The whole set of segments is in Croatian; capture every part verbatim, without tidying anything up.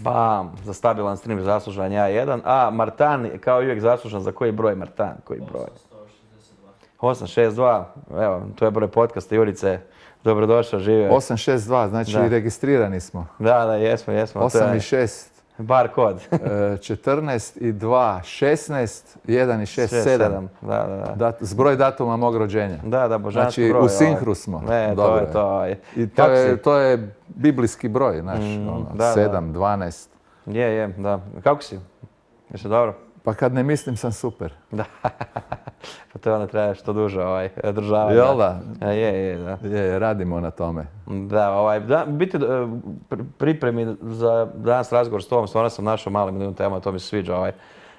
Bam, za stabilan stream zaslužan ja jedan. A Martan, kao i uvijek zaslužan za koji broj Martan? Koji broj? osam šest dva. Evo, to je broj podcasta Jurice. Dobrodošao, živio. osam šest dva, znači da. Registrirani smo. Da, da, jesmo, jesmo. osam i šest. Bar kod. četrnaest i dva, šesnaest, jedan i šest, sedam. Da, da, da. Dat, zbroj datuma mog rođenja. Da, da, božanski znači, broj. Znači, u sinhru smo. Ne, to je to. I to je, to je biblijski broj, znaš, mm, ono, da, sedam, da. dvanaest. Je, je, da. Kako si? Jesi dobro? Pa kad ne mislim sam super. Da. Pa to onda treba što duže ovaj, održavati. Jel da? A, je, je, da. Je, radimo na tome. Da, ovaj, da, biti pripremi za danas razgovor s tobom, stvarno sam našao malo milijun tema, to mi se sviđa. Ovaj.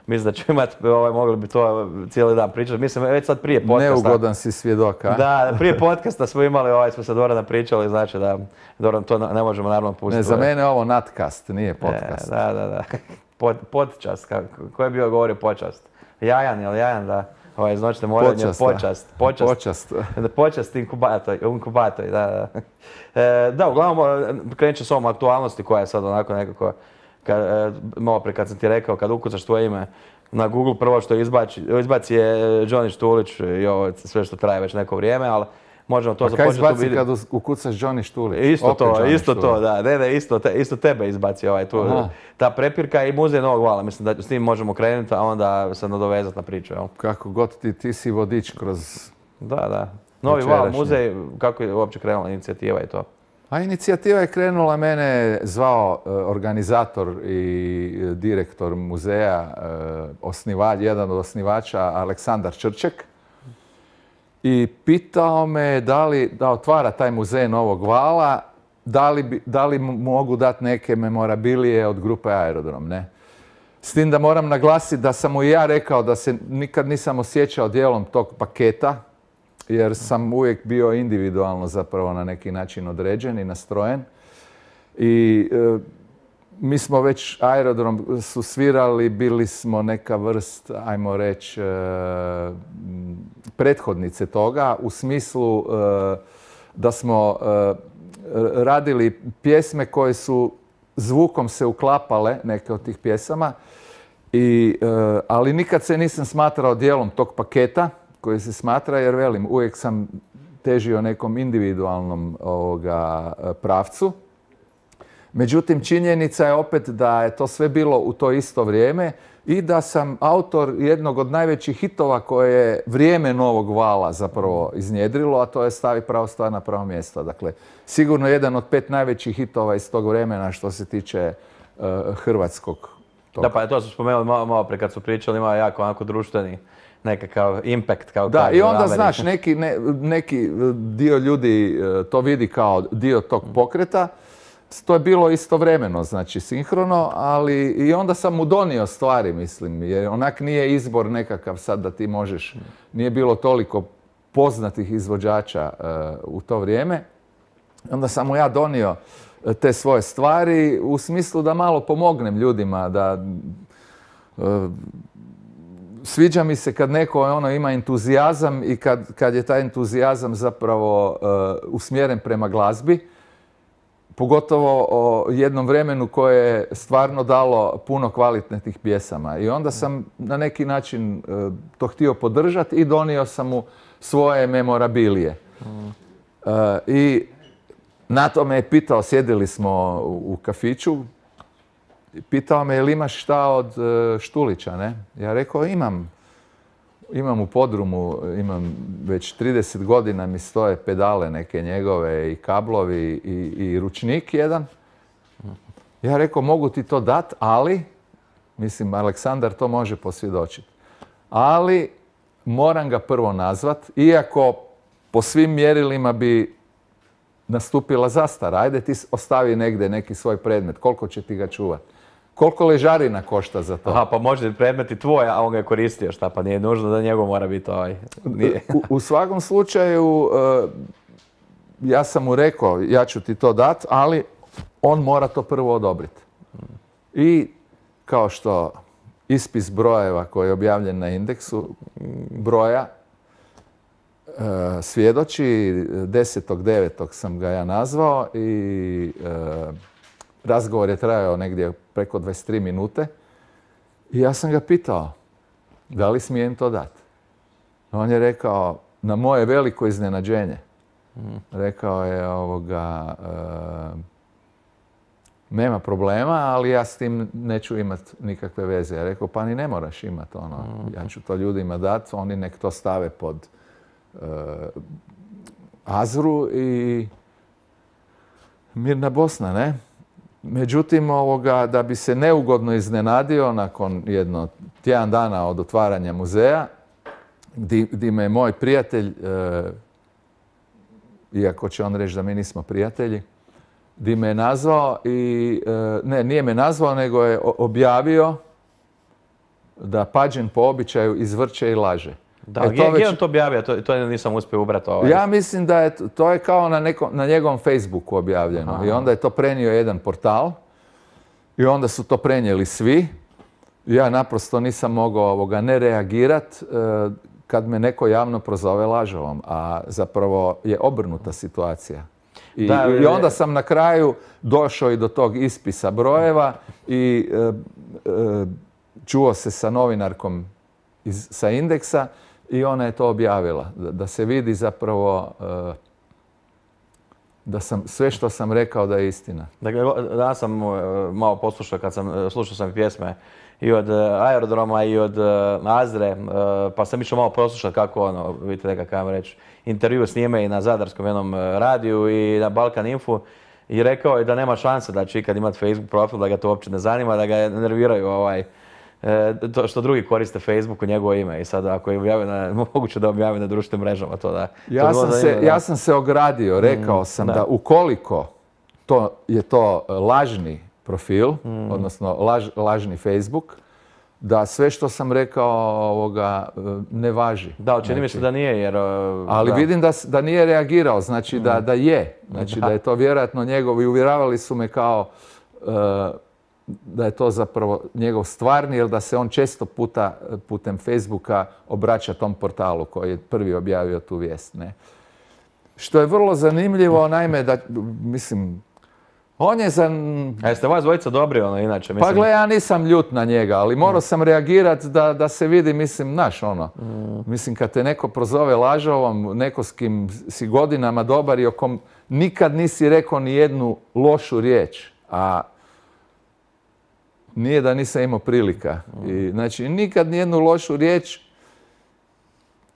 Mislim da ću imati, ovaj, mogli bi to cijeli dan pričati. Mislim, već sad prije podcasta. Neugodan si svjedok, a? Da, prije podcasta smo imali, ovaj, smo sa Dorana pričali, znači da Doran to ne možemo naravno pustiti. Ne, za mene je ovo nadcast, nije podcast. E, da, da, da. Pod, podčast, ko je bio govorio počast? Jajan, jel Jajan, da? Ovaj, iznoćite moranje, počast. Počast. Počast. Počast inkubator, inkubator, da, da. E, da, uglavnom, krenut ću s ovom aktualnosti koja je sad onako nekako, kad, e, malo pre kad sam ti rekao, kad ukucaš tvoje ime na Google, prvo što izbaci, izbaci je Johnny Štulić i ovo sve što traje već neko vrijeme, ali možemo to započeti. Pa kaj izbaci kad ukucaš Johnny Štulić? Isto Opet to, Johnny isto Štulić. To, da, ne, ne, isto, te, isto tebe izbaci ovaj tu, Aha. ta prepirka i muzej Novog Vala, mislim da s tim možemo krenuti, a onda se nadovezati na priču, jel? Kako god ti, ti si vodič kroz... Da, da. Novi Val, muzej, kako je uopće krenula inicijativa i to? A inicijativa je krenula, mene zvao uh, organizator i direktor muzeja, uh, osnivač, jedan od osnivača, Aleksandar Črček. I pitao me da li da otvara taj muzej Novog Vala, da li, bi, da li mogu dati neke memorabilije od grupe Aerodrom, ne? S tim da moram naglasiti da sam mu i ja rekao da se nikad nisam osjećao dijelom tog paketa, jer sam uvijek bio individualno zapravo na neki način određen i nastrojen. I e, mi smo već Aerodrom su svirali, bili smo neka vrst, ajmo reći, e, prethodnice toga, u smislu e, da smo e, radili pjesme koje su zvukom se uklapale, neke od tih pjesama, i, e, ali nikad se nisam smatrao dijelom tog paketa koji se smatra, jer velim, uvijek sam težio nekom individualnom ovoga, pravcu. Međutim, činjenica je opet da je to sve bilo u to isto vrijeme i da sam autor jednog od najvećih hitova koje je vrijeme Novog Vala zapravo iznjedrilo, a to je Stavi pravo stvar na pravo mjesto. Dakle, sigurno jedan od pet najvećih hitova iz tog vremena što se tiče uh, hrvatskog toga. Da, pa to su spomenuli malo, malo pre kad su pričali, ima jako onako društveni nekakav impact. Kao da, i onda znaš, neki, ne, neki dio ljudi to vidi kao dio tog pokreta. To je bilo istovremeno, znači sinhrono, ali i onda sam mu donio stvari, mislim, jer onak nije izbor nekakav sad da ti možeš, nije bilo toliko poznatih izvođača uh, u to vrijeme. Onda sam mu ja donio te svoje stvari u smislu da malo pomognem ljudima, da uh, sviđa mi se kad neko ono ima entuzijazam i kad, kad je taj entuzijazam zapravo uh, usmjeren prema glazbi. Pogotovo o jednom vremenu koje je stvarno dalo puno kvalitetnih pjesama. I onda sam na neki način uh, to htio podržati i donio sam mu svoje memorabilije. Mm. Uh, I na to me je pitao, sjedili smo u, u kafiću, pitao me je li imaš šta od uh, Štulića, ne? Ja rekao imam. Imam u podrumu, imam već trideset godina mi stoje pedale neke njegove i kablovi i, i ručnik jedan. Ja rekao mogu ti to dat, ali, mislim Aleksandar to može posvjedočiti, ali moram ga prvo nazvat, iako po svim mjerilima bi nastupila zastara. Ajde ti ostavi negdje neki svoj predmet, koliko će ti ga čuvati? Koliko ležarina košta za to? Aha, pa može predmet i tvoj, a on ga je koristio, šta pa nije nužno da njegov mora biti ovaj. U, u svakom slučaju, uh, ja sam mu rekao, ja ću ti to dat, ali on mora to prvo odobriti. I kao što ispis brojeva koji je objavljen na indeksu broja uh, svjedoči, desetog devetog sam ga ja nazvao i uh, razgovor je trajao negdje preko dvadeset tri minute i ja sam ga pitao da li smijem to dati. On je rekao, na moje veliko iznenađenje, rekao je ovoga, e, nema problema, ali ja s tim neću imati nikakve veze. Ja rekao, pa ni ne moraš imati ono, ja ću to ljudima dati, oni nek to stave pod e, Azru i mirna Bosna, ne? Međutim, ovoga, da bi se neugodno iznenadio nakon jedno tjedan dana od otvaranja muzeja, di, di me je moj prijatelj, e, iako će on reći da mi nismo prijatelji, di me je nazvao i, e, ne, nije me nazvao, nego je objavio da Pađen po običaju izvrće i laže. Da, e, gdje već... on to objavio? To, to nisam uspio ubrati. Ovaj. Ja mislim da je to je kao na, neko, na njegovom Facebooku objavljeno. Aha. I onda je to prenio jedan portal i onda su to prenijeli svi. Ja naprosto nisam mogao ovoga ne reagirati e, kad me neko javno prozove lažovom, a zapravo je obrnuta situacija. I, da, i onda sam na kraju došao i do tog ispisa brojeva i e, e, čuo se sa novinarkom iz, sa Indeksa i ona je to objavila. Da, da se vidi zapravo e, da sam sve što sam rekao da je istina. Dakle, danas sam malo poslušao kad sam slušao sam pjesme i od Aerodroma i od Azre, pa sam išao malo poslušati kako ono, vidite neka kako reći, intervju s njime i na Zadarskom jednom radiju i na Balkan Infu i rekao je da nema šanse da će ikad imati Facebook profil, da ga to uopće ne zanima, da ga nerviraju ovaj, to što drugi koriste Facebook u njegovo ime i sad ako je objavio na, moguće da objavi na društvenim mrežama to da... Ja, to sam, se, da... ja sam se ogradio, rekao sam mm, da. da ukoliko to je to lažni profil, mm. odnosno laž, lažni Facebook, da sve što sam rekao ovoga ne važi. Da, čini mi se da nije jer... Ali da. vidim da, da nije reagirao, znači mm. da, da je. Znači da. da je to vjerojatno njegov i uvjeravali su me kao uh, da je to zapravo njegov stvarni, jer da se on često puta putem Facebooka obraća tom portalu koji je prvi objavio tu vijest. Ne? Što je vrlo zanimljivo, naime, da, mislim, on je za... A jeste vas dvojica dobri ono inače? Mislim... Pa gle, ja nisam ljut na njega, ali morao sam reagirati da, da se vidi, mislim, naš ono. Mm. Mislim, kad te neko prozove lažovom, neko s kim si godinama dobar i o kom nikad nisi rekao ni jednu lošu riječ, a nije da nisam imao prilika. I, znači, nikad ni jednu lošu riječ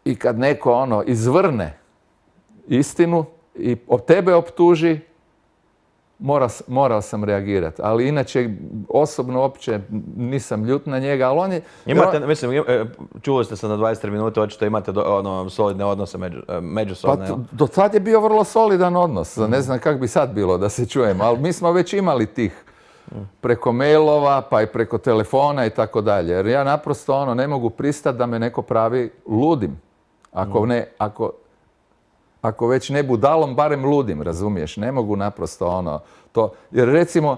i kad neko ono izvrne istinu i od tebe optuži, Mora, morao sam reagirati, ali inače osobno uopće nisam ljut na njega, ali on je... Imate, on... mislim, čuli ste se na dvadeset tri minute, očito imate do, ono, solidne odnose među, međusobne. Pa do tad je bio vrlo solidan odnos, ne znam kako bi sad bilo da se čujemo, ali mi smo već imali tih preko mailova, pa i preko telefona i tako dalje, jer ja naprosto ono ne mogu pristati da me neko pravi ludim, ako ne, ako... Ako već ne budalom, barem ludim, razumiješ? Ne mogu naprosto ono to. Jer recimo,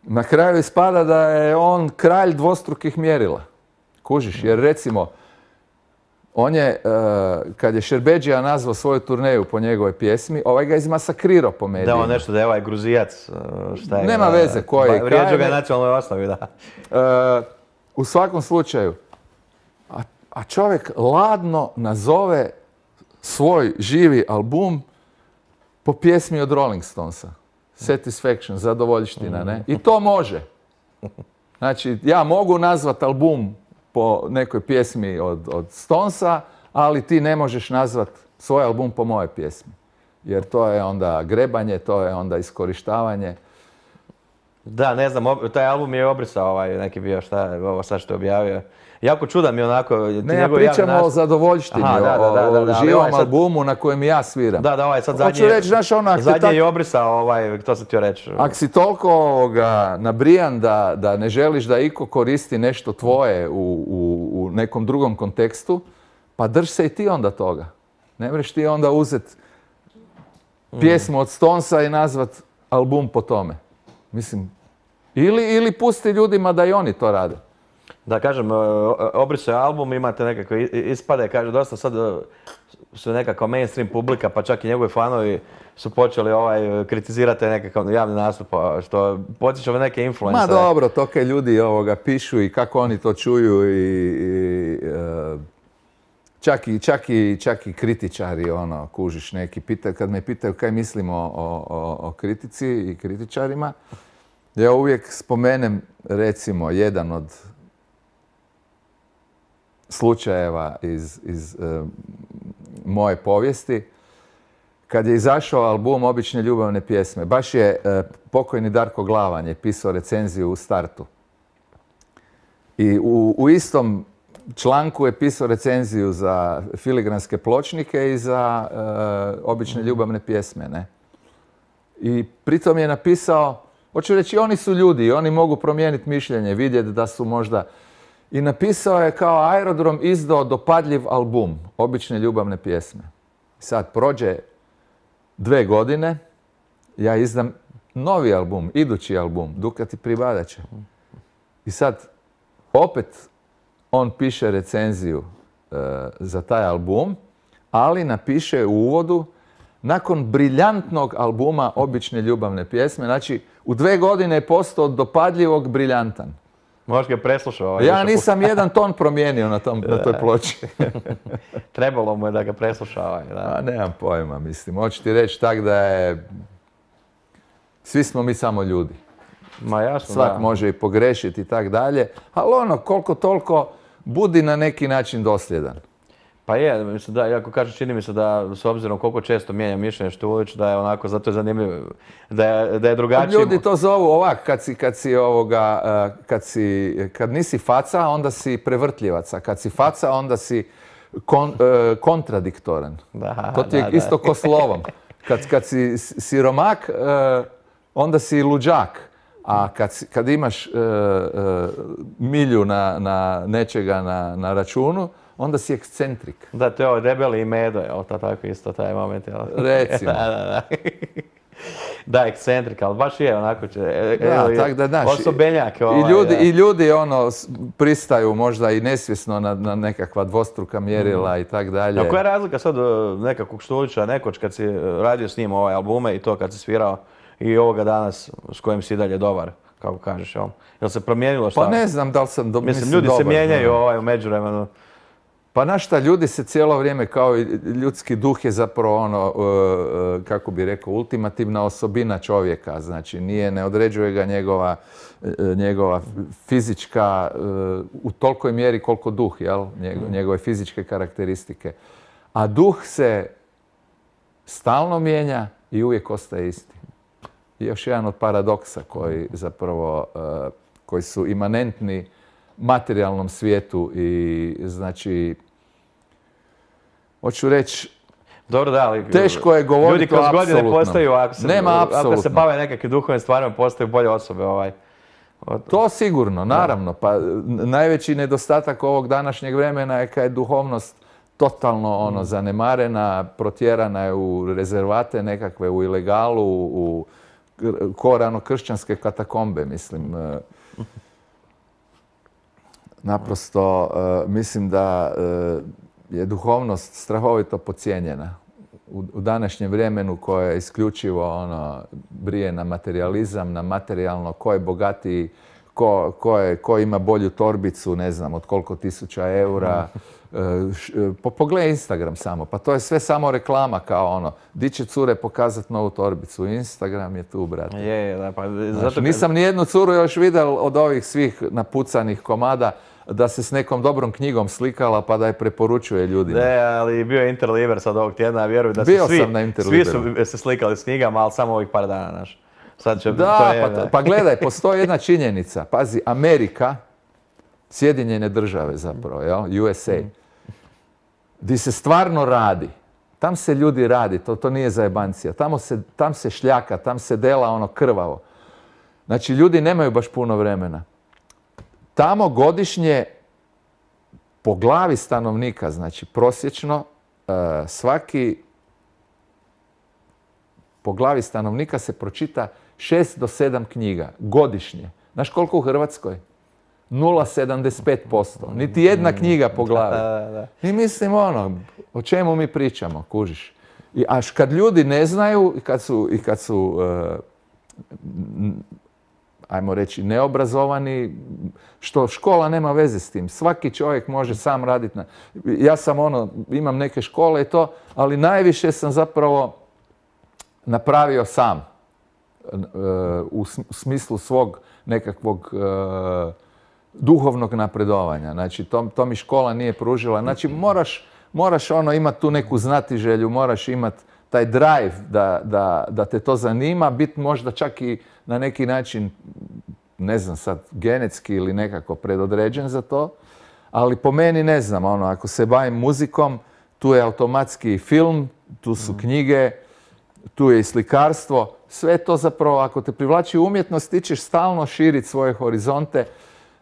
na kraju ispada da je on kralj dvostrukih mjerila. Kužiš? Jer recimo, on je, uh, kad je Šerbedžija nazvao svoju turneju po njegovoj pjesmi, ovaj ga izmasakrirao po medijima. Da, on nešto da je ovaj Gruzijac, šta je... Nema veze koji je. Vrijeđao ga je nacionalnoj osnovi, da. Uh, u svakom slučaju, a, a čovjek ladno nazove svoj živi album po pjesmi od Rolling Stonesa. Satisfaction, zadovoljština, ne? I to može. Znači, ja mogu nazvati album po nekoj pjesmi od, od Stonesa, ali ti ne možeš nazvati svoj album po moje pjesmi. Jer to je onda grebanje, to je onda iskorištavanje. Da, ne znam, taj album je obrisao ovaj neki bio, šta je ovo sad što je objavio. Jako čudan mi onako... Ne, ja pričam o zadovoljštini, Aha, da, da, da, da, o živom ovaj sad... albumu na kojem ja sviram. Da, da, ovaj sad zadnji, reći, znaš, ono, zadnji tak... je obrisao, ovaj, to sam htio reći. Ako si toliko ovoga, nabrijan da, da ne želiš da iko koristi nešto tvoje u, u, u nekom drugom kontekstu, pa drž se i ti onda toga. Ne mreš ti onda uzeti pjesmu od Stonesa i nazvat album po tome. Mislim, ili, ili pusti ljudima da i oni to rade. Da kažem, obrisao je album, imate nekakve ispade, kaže dosta sad su nekakva mainstream publika, pa čak i njegovi fanovi su počeli ovaj, kritizirati nekakav javni nastup, što podsjeća na neke influencere. Ma dobro, to kaj ljudi ovoga pišu i kako oni to čuju i, i uh, čak, i, čak, i, čak i kritičari, ono, kužiš neki, pita, kad me pitaju kaj mislim o, o, o kritici i kritičarima, ja uvijek spomenem, recimo, jedan od slučajeva iz, iz uh, moje povijesti, kad je izašao album Obične ljubavne pjesme. Baš je uh, pokojni Darko Glavan je pisao recenziju u startu. I u, u istom članku je pisao recenziju za filigranske pločnike i za uh, Obične ljubavne pjesme. Ne? I pritom je napisao, hoću reći, oni su ljudi, oni mogu promijeniti mišljenje, vidjeti da su možda... I napisao je kao Aerodrom izdao dopadljiv album, Obične ljubavne pjesme. Sad prođe dve godine, ja izdam novi album, idući album, Dukati pribadaće. I sad opet on piše recenziju e, za taj album, ali napiše u uvodu nakon briljantnog albuma Obične ljubavne pjesme, znači u dve godine je postao od dopadljivog briljantan. Možda ga preslušao. Ovaj ja nisam jedan ton promijenio na, tom, na toj ploči. Trebalo mu je da ga presluša. Ovaj, da. A nemam pojma, mislim. Hoću ti reći tak da je... Svi smo mi samo ljudi. Ma jasno, Svak da. može i pogrešiti i tak dalje. Ali ono, koliko toliko, budi na neki način dosljedan. Pa je, mislim da, iako kažem, čini mi se da s obzirom koliko često mijenja mišljenje Štulić, da je onako, zato je zanimljivo, da je, da je drugačiji. Ljudi to zovu ovak, kad si, kad si ovoga, kad si, kad nisi faca, onda si prevrtljivac, a kad si faca, onda si kon, uh, kontradiktoran. Da, to ti je da, da. isto ko slovom. Kad, kad si siromak, uh, onda si luđak. A kad, si, kad imaš uh, uh, milju na, na nečega na, na računu, onda si ekscentrik. Da, to je ovo debeli i medo, jel, to tako isto taj moment, jel? Recimo. da, da, da. Da, ekscentrik, ali baš je onako će, da, tak da, znaš, osobenjak. Ovaj, I ljudi, da. i ljudi ono, pristaju možda i nesvjesno na, na nekakva dvostruka mjerila mm. i tak dalje. A koja je razlika sad nekakvog Štulića, nekoć kad si radio s njim ovaj albume i to kad si svirao i ovoga danas s kojim si dalje dobar, kako kažeš, jel? Jel se promijenilo šta? Pa ne znam da li sam do, mislim, mislim ljudi dobar, se mijenjaju ne. ovaj, u međuvremenu. Pa znaš šta, ljudi se cijelo vrijeme, kao i ljudski duh je zapravo ono, uh, kako bi rekao, ultimativna osobina čovjeka. Znači, nije, ne određuje ga njegova, uh, njegova fizička, uh, u tolikoj mjeri koliko duh, jel? Njego, njegove fizičke karakteristike. A duh se stalno mijenja i uvijek ostaje isti. I još jedan od paradoksa koji zapravo, uh, koji su imanentni materijalnom svijetu i znači, hoću reći, dobro, da, ali teško je govoriti ljudi kroz godine postaju, ako se, Nema apsolutno. Ako se bave nekakvim duhovnim stvarima, postaju bolje osobe. Ovaj. To sigurno, naravno. Pa najveći nedostatak ovog današnjeg vremena je kad je duhovnost totalno ono, zanemarena, protjerana je u rezervate nekakve, u ilegalu, u korano kršćanske katakombe, mislim. Naprosto, uh, mislim da uh, je duhovnost strahovito podcijenjena u, u današnjem vremenu koje je isključivo ono, brije na materializam, na materijalno, ko je bogatiji, ko, ko, je, ko ima bolju torbicu, ne znam, od koliko tisuća eura. Uh, š, po, pogledaj Instagram samo, pa to je sve samo reklama kao ono, di će cure pokazati novu torbicu, Instagram je tu, brate. Je, je, da, pa Znaš, zato... Nisam ni jednu curu još vidio od ovih svih napucanih komada da se s nekom dobrom knjigom slikala pa da je preporučuje ljudima. Ne, ali bio je Interliber sad ovog tjedna, ja vjerujem da su Bio svi, sam na svi su se slikali s knjigama, ali samo ovih par dana, znaš. Sad će, Da, to je, pa, da. pa gledaj, postoji jedna činjenica. Pazi, Amerika, Sjedinjene države zapravo, jel? U S A, di se stvarno radi. Tam se ljudi radi, to, to nije zajebancija. Tamo se, tam se šljaka, tam se dela ono krvavo. Znači, ljudi nemaju baš puno vremena. Tamo godišnje po glavi stanovnika, znači prosječno, svaki po glavi stanovnika se pročita šest do sedam knjiga godišnje. Znaš koliko u Hrvatskoj? nula zarez sedamdeset pet posto. Niti jedna knjiga po glavi. Da, da. I mislim, ono, o čemu mi pričamo, kužiš? I až kad ljudi ne znaju i kad su, i kad su uh, ajmo reći, neobrazovani, što škola nema veze s tim. Svaki čovjek može sam raditi. Na... Ja sam ono, imam neke škole i to, ali najviše sam zapravo napravio sam. U smislu svog nekakvog uh, duhovnog napredovanja. Znači, to, to mi škola nije pružila. Znači, moraš, moraš ono imati tu neku znatiželju, moraš imati taj drive da, da, da te to zanima, biti možda čak i na neki način, ne znam sad, genetski ili nekako predodređen za to, ali po meni ne znam, ono, ako se bavim muzikom, tu je automatski film, tu su knjige, tu je i slikarstvo, sve to zapravo, ako te privlači umjetnost, ti ćeš stalno širiti svoje horizonte.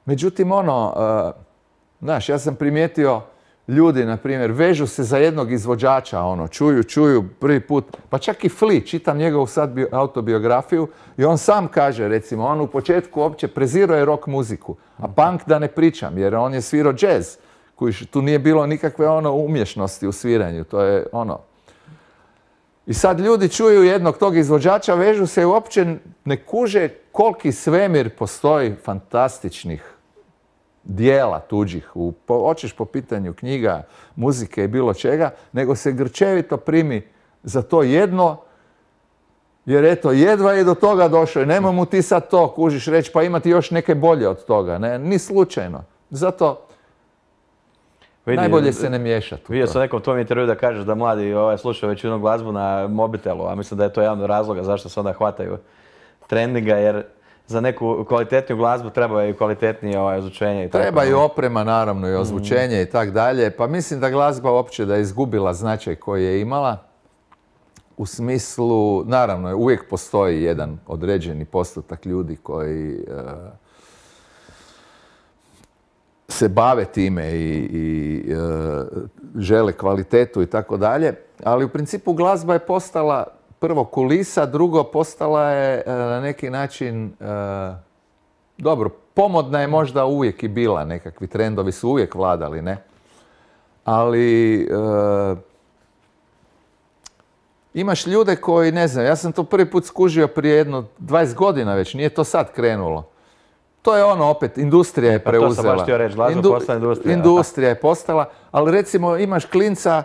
Međutim, ono, uh, znaš, ja sam primijetio ljudi, na primjer, vežu se za jednog izvođača, ono, čuju, čuju prvi put, pa čak i Flea, čitam njegovu sad bio, autobiografiju i on sam kaže, recimo, on u početku uopće prezirao je rock muziku, a punk da ne pričam, jer on je svirao jazz, koji tu nije bilo nikakve ono umješnosti u sviranju, to je ono. I sad ljudi čuju jednog tog izvođača, vežu se i uopće ne kuže koliki svemir postoji fantastičnih dijela tuđih, u, po, hoćeš po pitanju knjiga, muzike i bilo čega, nego se grčevito primi za to jedno, jer eto, jedva je do toga došao i nema mu ti sad to, kužiš reći, pa imati još neke bolje od toga, ne, ni slučajno. Zato Vidi, najbolje se ne miješati. Vidio sam nekom tvom intervju da kažeš da mladi ovaj, slušaju većinu glazbu na mobitelu, a mislim da je to jedan od razloga zašto se onda hvataju trendinga, jer za neku kvalitetniju glazbu treba i kvalitetnije ovaj, ozvučenje. I treba tako. I oprema, naravno, i ozvučenje mm. i tak dalje. Pa mislim da glazba uopće da je izgubila značaj koji je imala. U smislu, naravno, uvijek postoji jedan određeni postotak ljudi koji uh, se bave time i, i uh, žele kvalitetu i tako dalje. Ali u principu glazba je postala prvo kulisa, drugo postala je na neki način, dobro, pomodna je možda uvijek i bila, nekakvi trendovi su uvijek vladali, ne? Ali imaš ljude koji, ne znam, ja sam to prvi put skužio prije jedno dvadeset godina već, nije to sad krenulo. To je ono opet, industrija je preuzela. Pa to sam baš htio reći, glazba Indu, postala industrija. Industrija je postala, ali recimo imaš klinca,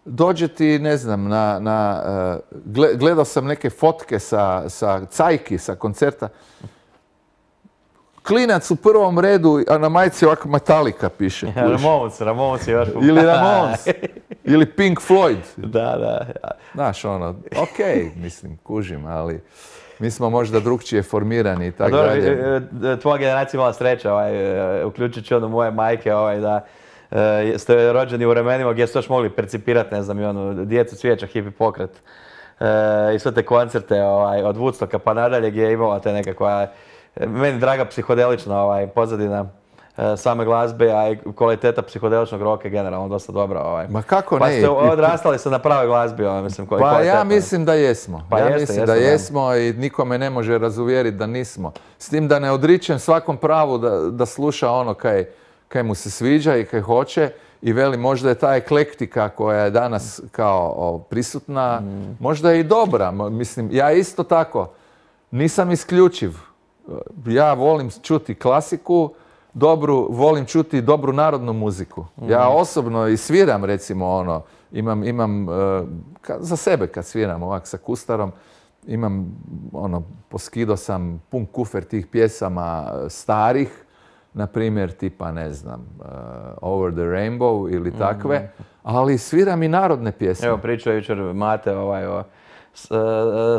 dođe ti, ne znam, na, na, uh, gledao sam neke fotke sa, sa cajki, sa koncerta. Klinac u prvom redu, a na majici ovako Metallica piše. Ja, Ramones, Ramones je još... Ili Ramones, ili Pink Floyd. Da, da. Znaš, ono, okej, okay, mislim, kužim, ali mi smo možda drugčije formirani i tako dalje. Tvoja generacija imala sreća, ovaj, uključujući ono moje majke, ovaj, da ste rođeni u vremenima gdje ste još mogli percipirati, ne znam, i onu djecu cvijeća, hippie pokret e, i sve te koncerte ovaj, od Woodstocka pa nadalje gdje je imala te nekakva, meni draga psihodelična ovaj, pozadina e, same glazbe, a i kvaliteta psihodeličnog roka je generalno dosta dobra. Ovaj. Ma kako pa ne? Pa ste odrastali se na pravoj glazbi, ovaj, mislim, koji Pa ja mislim da jesmo. Pa ja jeste, mislim jeste, da da. jesmo i nikome ne može razuvjeriti da nismo. S tim da ne odričem svakom pravu da, da sluša ono kaj kaj mu se sviđa i kaj hoće i veli možda je ta eklektika koja je danas kao o, prisutna, mm. možda je i dobra. Mislim, ja isto tako nisam isključiv. Ja volim čuti klasiku, dobru, volim čuti dobru narodnu muziku. Mm. Ja osobno i sviram, recimo, ono, imam, imam uh, ka, za sebe kad sviram ovak sa kustarom, imam, ono, poskido sam pun kufer tih pjesama starih, na primjer, tipa, ne znam, uh, Over the Rainbow ili takve, mm. ali sviram i narodne pjesme. Evo, pričao je jučer Mate ovaj, o s, uh,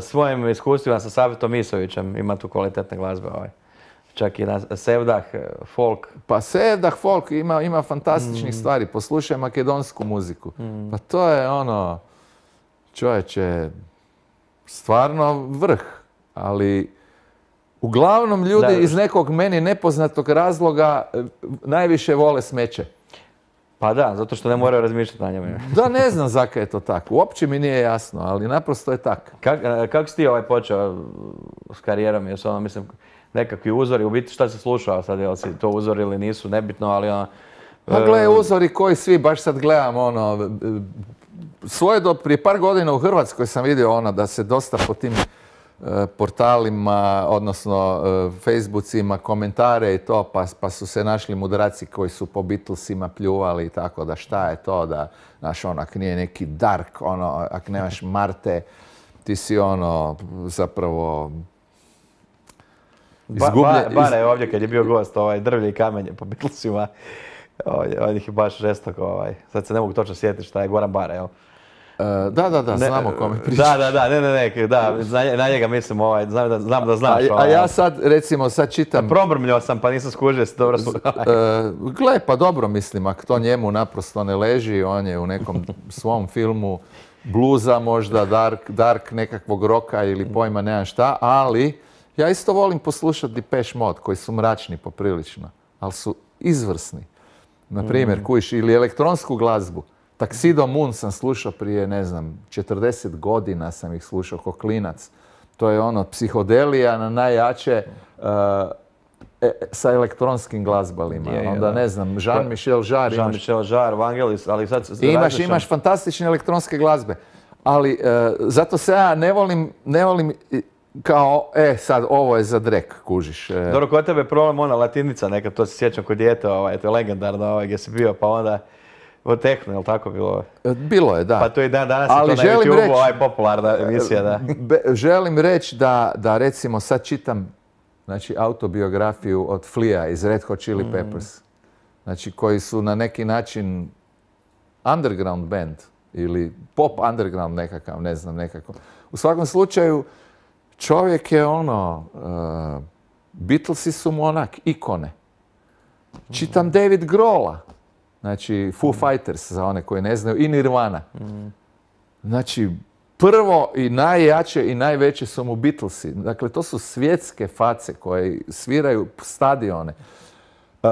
svojim iskustvima sa Savetom Misovićem, ima tu kvalitetne glazbe. Ovaj. Čak i na Sevdah, folk. Pa Sevdah, folk, ima, ima fantastičnih mm. stvari. Poslušaj makedonsku muziku. Mm. Pa to je ono, čovječe, stvarno vrh, ali uglavnom ljudi da, iz nekog meni nepoznatog razloga najviše vole smeće. Pa da, zato što ne moraju razmišljati na njemu. Da, ne znam zakaj je to tako. Uopće mi nije jasno, ali naprosto je tako. Kak, kako si ti ovaj počeo s karijerom? Jesu ono, mislim, nekakvi uzori, u biti šta si slušao sad, jel si to uzori ili nisu, nebitno, ali ono... Pa gle, uzori koji svi, baš sad gledam, ono, svoje do prije par godina u Hrvatskoj sam vidio ono da se dosta po tim e, portalima, odnosno e, Facebookima, komentare i to, pa, pa su se našli mudraci koji su po Beatlesima pljuvali i tako da šta je to, da, znaš, ono, ak nije neki dark, ono, ak nemaš Marte, ti si ono, zapravo... Izgubljen, ba, ba, Bare je ovdje kad je bio gost, ovaj, drvlje i kamenje po Beatlesima. On ih je baš žestoko, ovaj. Sad se ne mogu točno sjetiti šta je Goran Bare, jel? Uh, da, da, da, znamo o kome priča. Da, da, da, ne, ne, ne, da, na njega mislim, ovaj, znam da, znam da znaš. A, ovaj, a ja sad, recimo, sad čitam... Probrmljao sam, pa nisam skužio se dobro. Uh, gle, pa dobro mislim, ako to njemu naprosto ne leži, on je u nekom svom filmu bluza možda, dark, dark nekakvog roka ili pojma, nemam šta, ali ja isto volim poslušati Depeche Mode, koji su mračni poprilično, ali su izvrsni. Na primjer, mm. kujiš, ili elektronsku glazbu. Tuxedo Moon sam slušao prije, ne znam, četrdeset godina sam ih slušao ko klinac. To je ono, psihodelija na najjače uh, e, sa elektronskim glazbalima. Je, je, onda, ne znam, Jean-Michel Jarre. Jean-Michel Jarre, Vangelis, ali sad... Imaš, imaš fantastične elektronske glazbe. Ali uh, zato se ja ne volim, ne volim kao, e, sad, ovo je za drek, kužiš. E. Dobro, kod tebe je problem ona latinica neka, to se sjećam kod dijete, ovaj, to je legendarno, ovaj, gdje si bio, pa onda o tehnu, je li tako bilo? Bilo je, da. Pa to i dan danas ali je to na YouTube, reći, ovaj popularna emisija, da. Be, želim reći da, da, recimo, sad čitam, znači, autobiografiju od Flea iz Red Hot Chili Peppers, mm. znači, koji su na neki način underground band, ili pop underground nekakav, ne znam, nekako. U svakom slučaju, čovjek je ono, uh, Beatlesi su mu onak ikone. Čitam David Grohla, znači Foo Fighters za one koji ne znaju, i Nirvana. Znači, prvo i najjače i najveće su mu Beatlesi. Dakle, to su svjetske face koje sviraju stadione. Uh,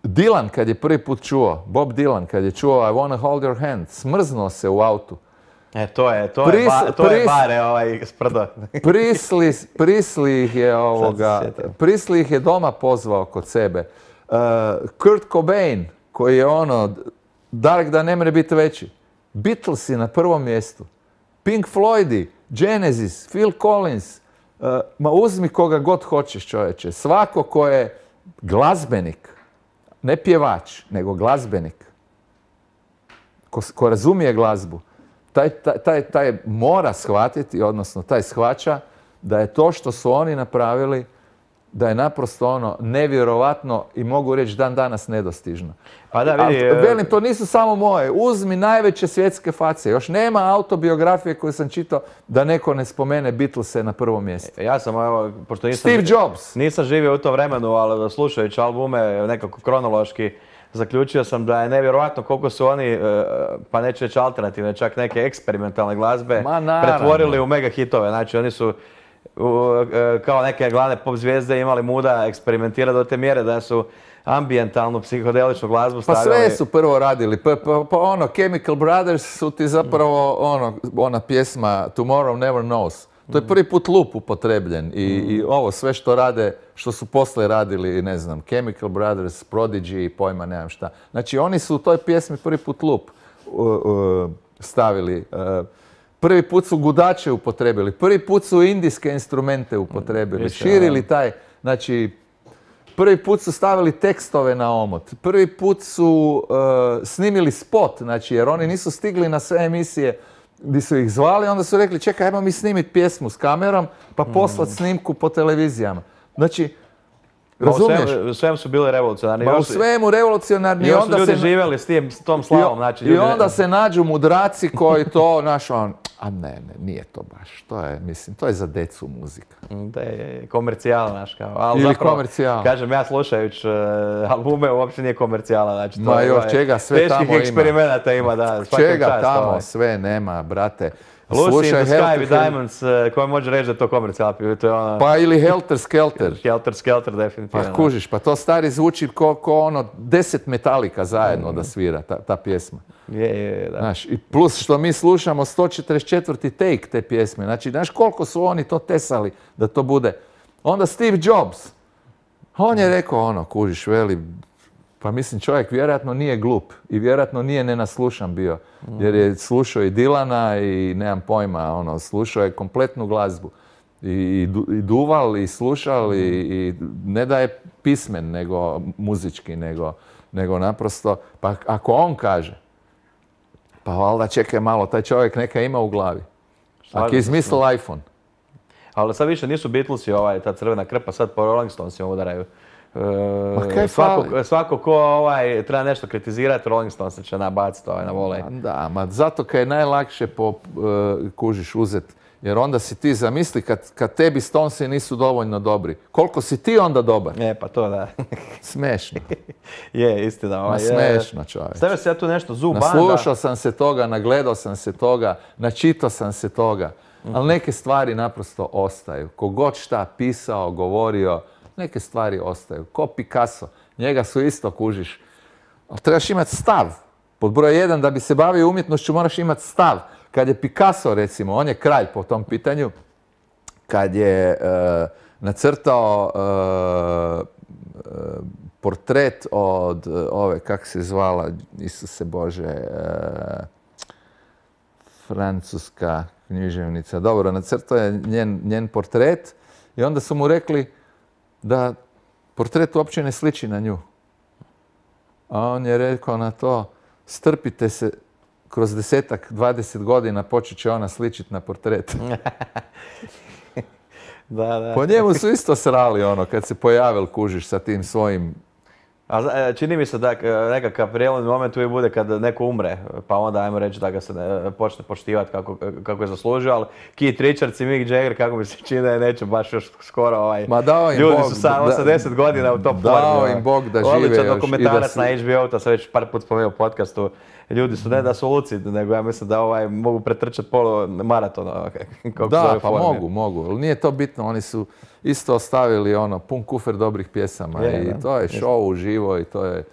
Dylan kad je prvi put čuo, Bob Dylan kad je čuo I wanna hold your hand, smrznuo se u autu. E, to je, to Pris, je, ba, to pris, je bare ovaj sprdo. Prisli, Prisli ih je ovoga, Prisli ih je doma pozvao kod sebe. Uh, Kurt Cobain, koji je ono, Dark da ne može biti veći. Beatlesi na prvom mjestu. Pink Floydi, Genesis, Phil Collins. Uh, ma uzmi koga god hoćeš, čovječe. Svako ko je glazbenik, ne pjevač, nego glazbenik, ko, ko razumije glazbu, Taj, taj, taj mora shvatiti, odnosno taj shvaća da je to što su oni napravili, da je naprosto ono nevjerovatno i mogu reći dan danas nedostižno. Pa da, vidi... A, velim, to nisu samo moje. Uzmi najveće svjetske face. Još nema autobiografije koju sam čitao da neko ne spomene Beatlese na prvom mjestu. Ja sam, evo, pošto nisam... Steve Jobs. Nisam živio u to vremenu, ali slušajući albume nekako kronološki, zaključio sam da je nevjerojatno koliko su oni, pa neću reći alternativne, čak neke eksperimentalne glazbe pretvorili u mega hitove. Znači oni su kao neke glavne pop zvijezde imali muda eksperimentirati do te mjere da su ambijentalnu, psihodeličnu glazbu stavili. Pa sve su prvo radili. Pa, pa, pa ono, Chemical Brothers su ti zapravo ono, ona pjesma Tomorrow Never Knows. To je prvi put lup upotrebljen i, mm. i ovo sve što rade, što su poslije radili, ne znam, Chemical Brothers, Prodigy i pojma, nemam šta. Znači oni su u toj pjesmi prvi put lup uh, uh, stavili. Uh, prvi put su gudače upotrebili, prvi put su indijske instrumente upotrebili, mm. širili taj, znači prvi put su stavili tekstove na omot, prvi put su uh, snimili spot, znači jer oni nisu stigli na sve emisije gdje su ih zvali, onda su rekli čekaj, ajmo mi snimiti pjesmu s kamerom pa poslati snimku po televizijama. Znači, razumiješ? U svemu su bili revolucionarni. Ba, u svemu revolucionarni. I još su ljudi se... živjeli s, tim, s tom slavom. Znači, I onda ne... se nađu mudraci koji to, naš on, a ne, ne, nije to baš. To je, mislim, to je za decu muzika. Da je komercijala, znaš kao. Ali ili zapravo, komercijala. Kažem, ja slušajući uh, albume, uopće nije komercijala. Znači, to Ma je, još čega sve tamo ima. Teških eksperimenata ima, da. Čega čast, tamo ovaj. sve nema, brate. Lucy in the Sky Helter with Hel- Diamonds, koja može reći da je to komercijalna pjesma. To je ona... Pa ili Helter Skelter. Helter Skelter, definitivno. Pa kužiš, pa to stari zvuči ko, ko ono deset Metallica zajedno mm. da svira ta, ta pjesma. Je, je, je, da. Znaš, i plus što mi slušamo sto četrdeset četvrti take te pjesme. Znači, znaš koliko su oni to tesali da to bude. Onda Steve Jobs. On je rekao ono, kužiš, veli, pa mislim čovjek vjerojatno nije glup i vjerojatno nije nenaslušan bio. Jer je slušao i Dilana i nemam pojma, ono, slušao je kompletnu glazbu. I, i, du, i duval i slušal i, i ne da je pismen nego muzički, nego, nego naprosto, pa ako on kaže, pa valjda čekaj malo, taj čovjek neka ima u glavi. Ako je izmislil iPhone. Ali sad više nisu Beatlesi ovaj, ta crvena krpa, sad po Rolling Stonesima udaraju. Ma kaj svako, fali? svako ko ovaj, treba nešto kritizirati, Rolling Stones će nabaciti ovaj, na volej. Da, ma zato kaj je najlakše po, uh, kužiš uzet. Jer onda si ti zamisli kad, kad tebi Stonesi nisu dovoljno dobri. Koliko si ti onda dobar? E, pa to da. Smešno. Je, istina. Ma Ovaj, smešno, čovječ. Stavio se ja tu nešto Zoo Banda. Naslušao sam se toga, nagledao sam se toga, načitao sam se toga. Ali neke stvari naprosto ostaju. Kogod šta pisao, govorio, neke stvari ostaju. Ko Picasso. Njega su isto, kužiš. Ali trebaš imati stav. Pod broj jedan, da bi se bavio umjetnošću, moraš imati stav. Kad je Picasso, recimo, on je kralj po tom pitanju, kad je e, nacrtao e, e, portret od e, ove, kak se zvala, Isuse Bože, e, francuska književnica. Dobro, nacrtao je njen, njen portret i onda su mu rekli da portret uopće ne sliči na nju. A on je rekao na to, strpite se, kroz desetak, dvadeset godina počet će ona sličiti na portret. Da, da. Po njemu su isto srali ono, kad se pojavil, kužiš, sa tim svojim... A čini mi se da nekakav prijelomni moment uvijek bude kad neko umre, pa onda ajmo reći da ga se ne, počne poštivati kako, kako je zaslužio, ali Keith Richards i Mick Jagger, kako mi se čini da neće baš još skoro ovaj... Ma dao im ljudi Bog, su sa osamdeset godina u top formi. Dao im Bog da žive Odličan još dokumentarac i da na H B O, to sam već par put spomenuo u podcastu. Ljudi su ne da su lucid, nego ja mislim da ovaj, mogu pretrčati polo maratona. Da, pa formi. mogu, mogu. Ali nije to bitno, oni su isto ostavili ono, pun kufer dobrih pjesama je, i da, to je show uživo i to je...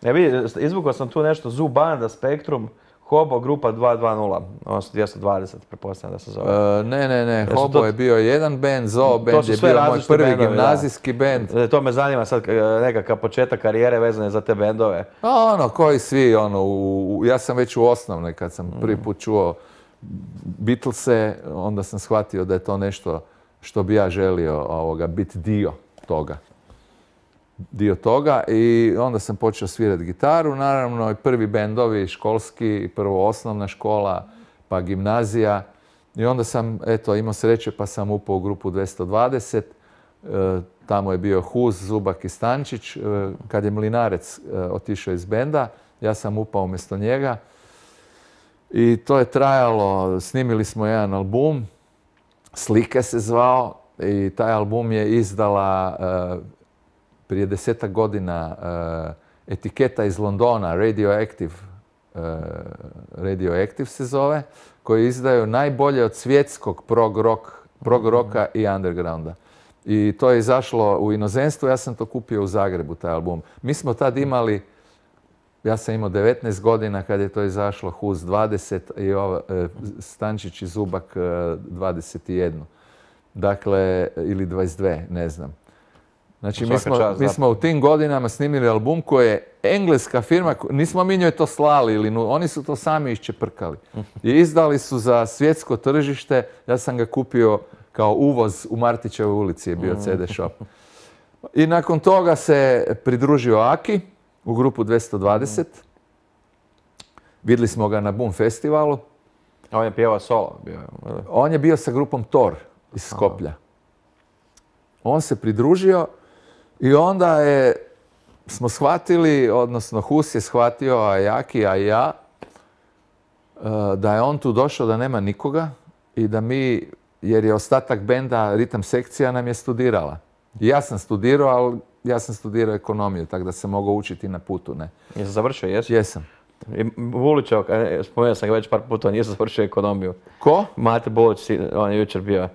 Ja vidi, izvukao sam tu nešto, Zoo Banda, Spektrum, Hobo, grupa dva dva nula, odnosno dvjesto dvadeset, pretpostavljam da se zove. Uh, ne, ne, ne, Hobo to... je bio jedan band, Zoo band je bio moj prvi bendovi, gimnazijski da. band. To me zanima sad nekakav početak karijere vezane za te bendove. A ono, koji svi, ono, u, ja sam već u osnovnoj kad sam prvi put čuo Beatlese, onda sam shvatio da je to nešto što bi ja želio ovoga, biti dio toga. dio toga i onda sam počeo svirati gitaru, naravno i prvi bendovi školski, prvo osnovna škola, pa gimnazija i onda sam, eto, imao sreće pa sam upao u grupu dvjesto dvadeset, e, tamo je bio Hus, Zubak i Stančić, e, kad je Mlinarec e, otišao iz benda, ja sam upao umjesto njega i to je trajalo, snimili smo jedan album, Slike se zvao i taj album je izdala e, prije desetak godina uh, etiketa iz Londona, Radioactive, uh, Radioactive se zove, koji izdaju najbolje od svjetskog prog, rock, prog roka i undergrounda. I to je izašlo u inozemstvu, ja sam to kupio u Zagrebu, taj album. Mi smo tad imali, ja sam imao devetnaest godina kad je to izašlo, Hus dvadeset i ova, uh, Stančić i Zubak uh, dvadeset jedan. Dakle, ili dvadeset dvije, ne znam. Znači, mi smo, čas, mi smo u tim godinama snimili album koji je engleska firma, nismo mi njoj to slali, ili nu, oni su to sami iščeprkali. I izdali su za svjetsko tržište, ja sam ga kupio kao uvoz u Martićevoj ulici, je bio ce de shop. I nakon toga se pridružio Aki u grupu dvjesto dvadeset. Vidjeli smo ga na Boom festivalu. A on je pjevao solo? Bio. On je bio sa grupom Thor iz Skoplja. On se pridružio i onda je, smo shvatili, odnosno Hus je shvatio, a Jaki, a i ja, da je on tu došao da nema nikoga i da mi, jer je ostatak benda, ritam sekcija nam je studirala. I ja sam studirao, ali ja sam studirao ekonomiju, tako da sam mogao učiti na putu, ne. Jesi završio, jesi? Jesam. I Vulićev, spomenuo sam ga već par puta, on nije završio ekonomiju. Ko? Mate Bulić, on je jučer bio.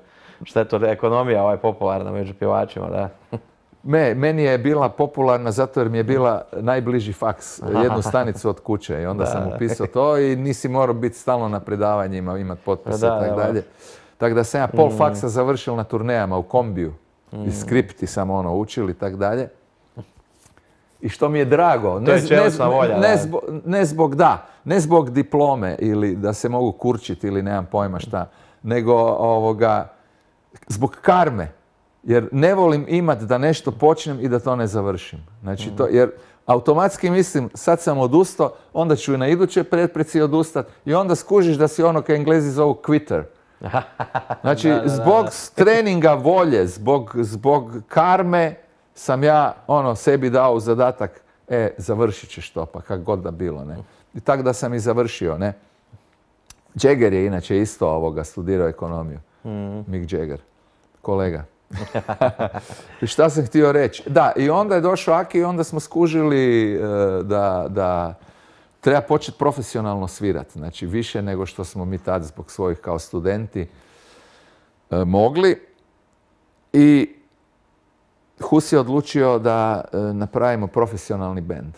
Šta je to, ekonomija ovaj popularna među pjevačima, da. Me, meni je bila popularna zato jer mi je bila najbliži faks, jednu stanicu od kuće i onda da, sam upisao to i nisi morao biti stalno na predavanjima, imati potpise i tako dalje. Tako da sam ja pol mm. faksa završil na turnejama u kombiju mm. i skripti sam ono učil i tako dalje. I što mi je drago, ne, je ne, volja, ne, zbog, ne zbog da, ne zbog diplome ili da se mogu kurčiti ili nemam pojma šta, nego ovoga, zbog karme. Jer ne volim imat da nešto počnem i da to ne završim. Znači to, jer automatski mislim, sad sam odustao, onda ću i na iduće pretpreci odustat i onda skužiš da si ono kao Englezi zovu quitter. Znači, da, da, da. Zbog treninga volje, zbog, zbog karme sam ja ono sebi dao u zadatak, e, završit ćeš to, pa kak god da bilo, ne. I tako da sam i završio, ne. Jagger je inače isto ovoga studirao ekonomiju. Mm. Mick Jagger, kolega. I šta sam htio reći? Da, i onda je došao Aki i onda smo skužili uh, da, da treba početi profesionalno svirati. Znači, više nego što smo mi tad zbog svojih kao studenti uh, mogli. I Hus je odlučio da uh, napravimo profesionalni bend.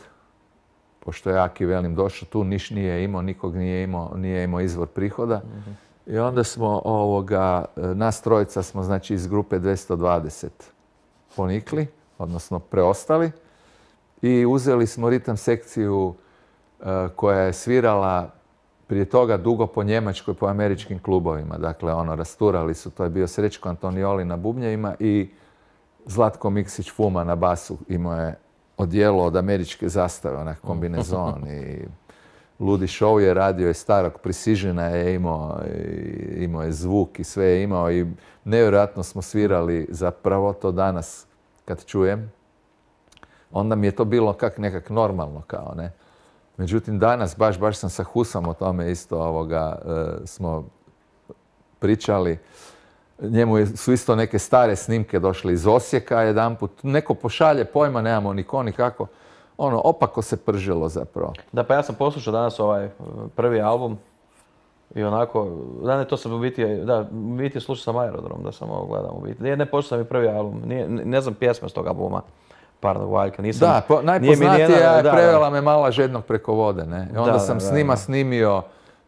Pošto je Aki, velim, došao tu, niš nije imao, nikog nije imao, nije imao izvor prihoda. Mm-hmm. I onda smo ovoga, nas trojica smo znači iz grupe dvjesto dvadeset ponikli, odnosno preostali i uzeli smo ritam sekciju uh, koja je svirala prije toga dugo po Njemačkoj, po američkim klubovima. Dakle, ono, rasturali su, to je bio Srećko Antonioli na bubnjevima i Zlatko Miksić Fuma na basu. Imao je odijelo od američke zastave, onak kombinezon i ludi show je radio i starog Precisiona je imao, imao je zvuk i sve je imao i nevjerojatno smo svirali zapravo to danas kad čujem. Onda mi je to bilo kak nekak normalno kao, ne. Međutim, danas baš, baš sam sa Husom o tome isto ovoga e, smo pričali. Njemu su isto neke stare snimke došle iz Osijeka jedanput. Neko pošalje, pojma nemamo ni ko ni kako. Ono, opako se pržilo zapravo. Da, pa ja sam poslušao danas ovaj prvi album i onako, da ne, to sam u biti, da, u biti slušao sam Aerodrom, da sam ovo gledam u biti. Ne, ne poslušao sam i prvi album, nije, ne znam pjesme s tog albuma, Parnog Valjka, nisam... Da, po, najpoznatija je Prevela me mala žednog preko vode, ne? I onda da, sam da, s njima da. snimio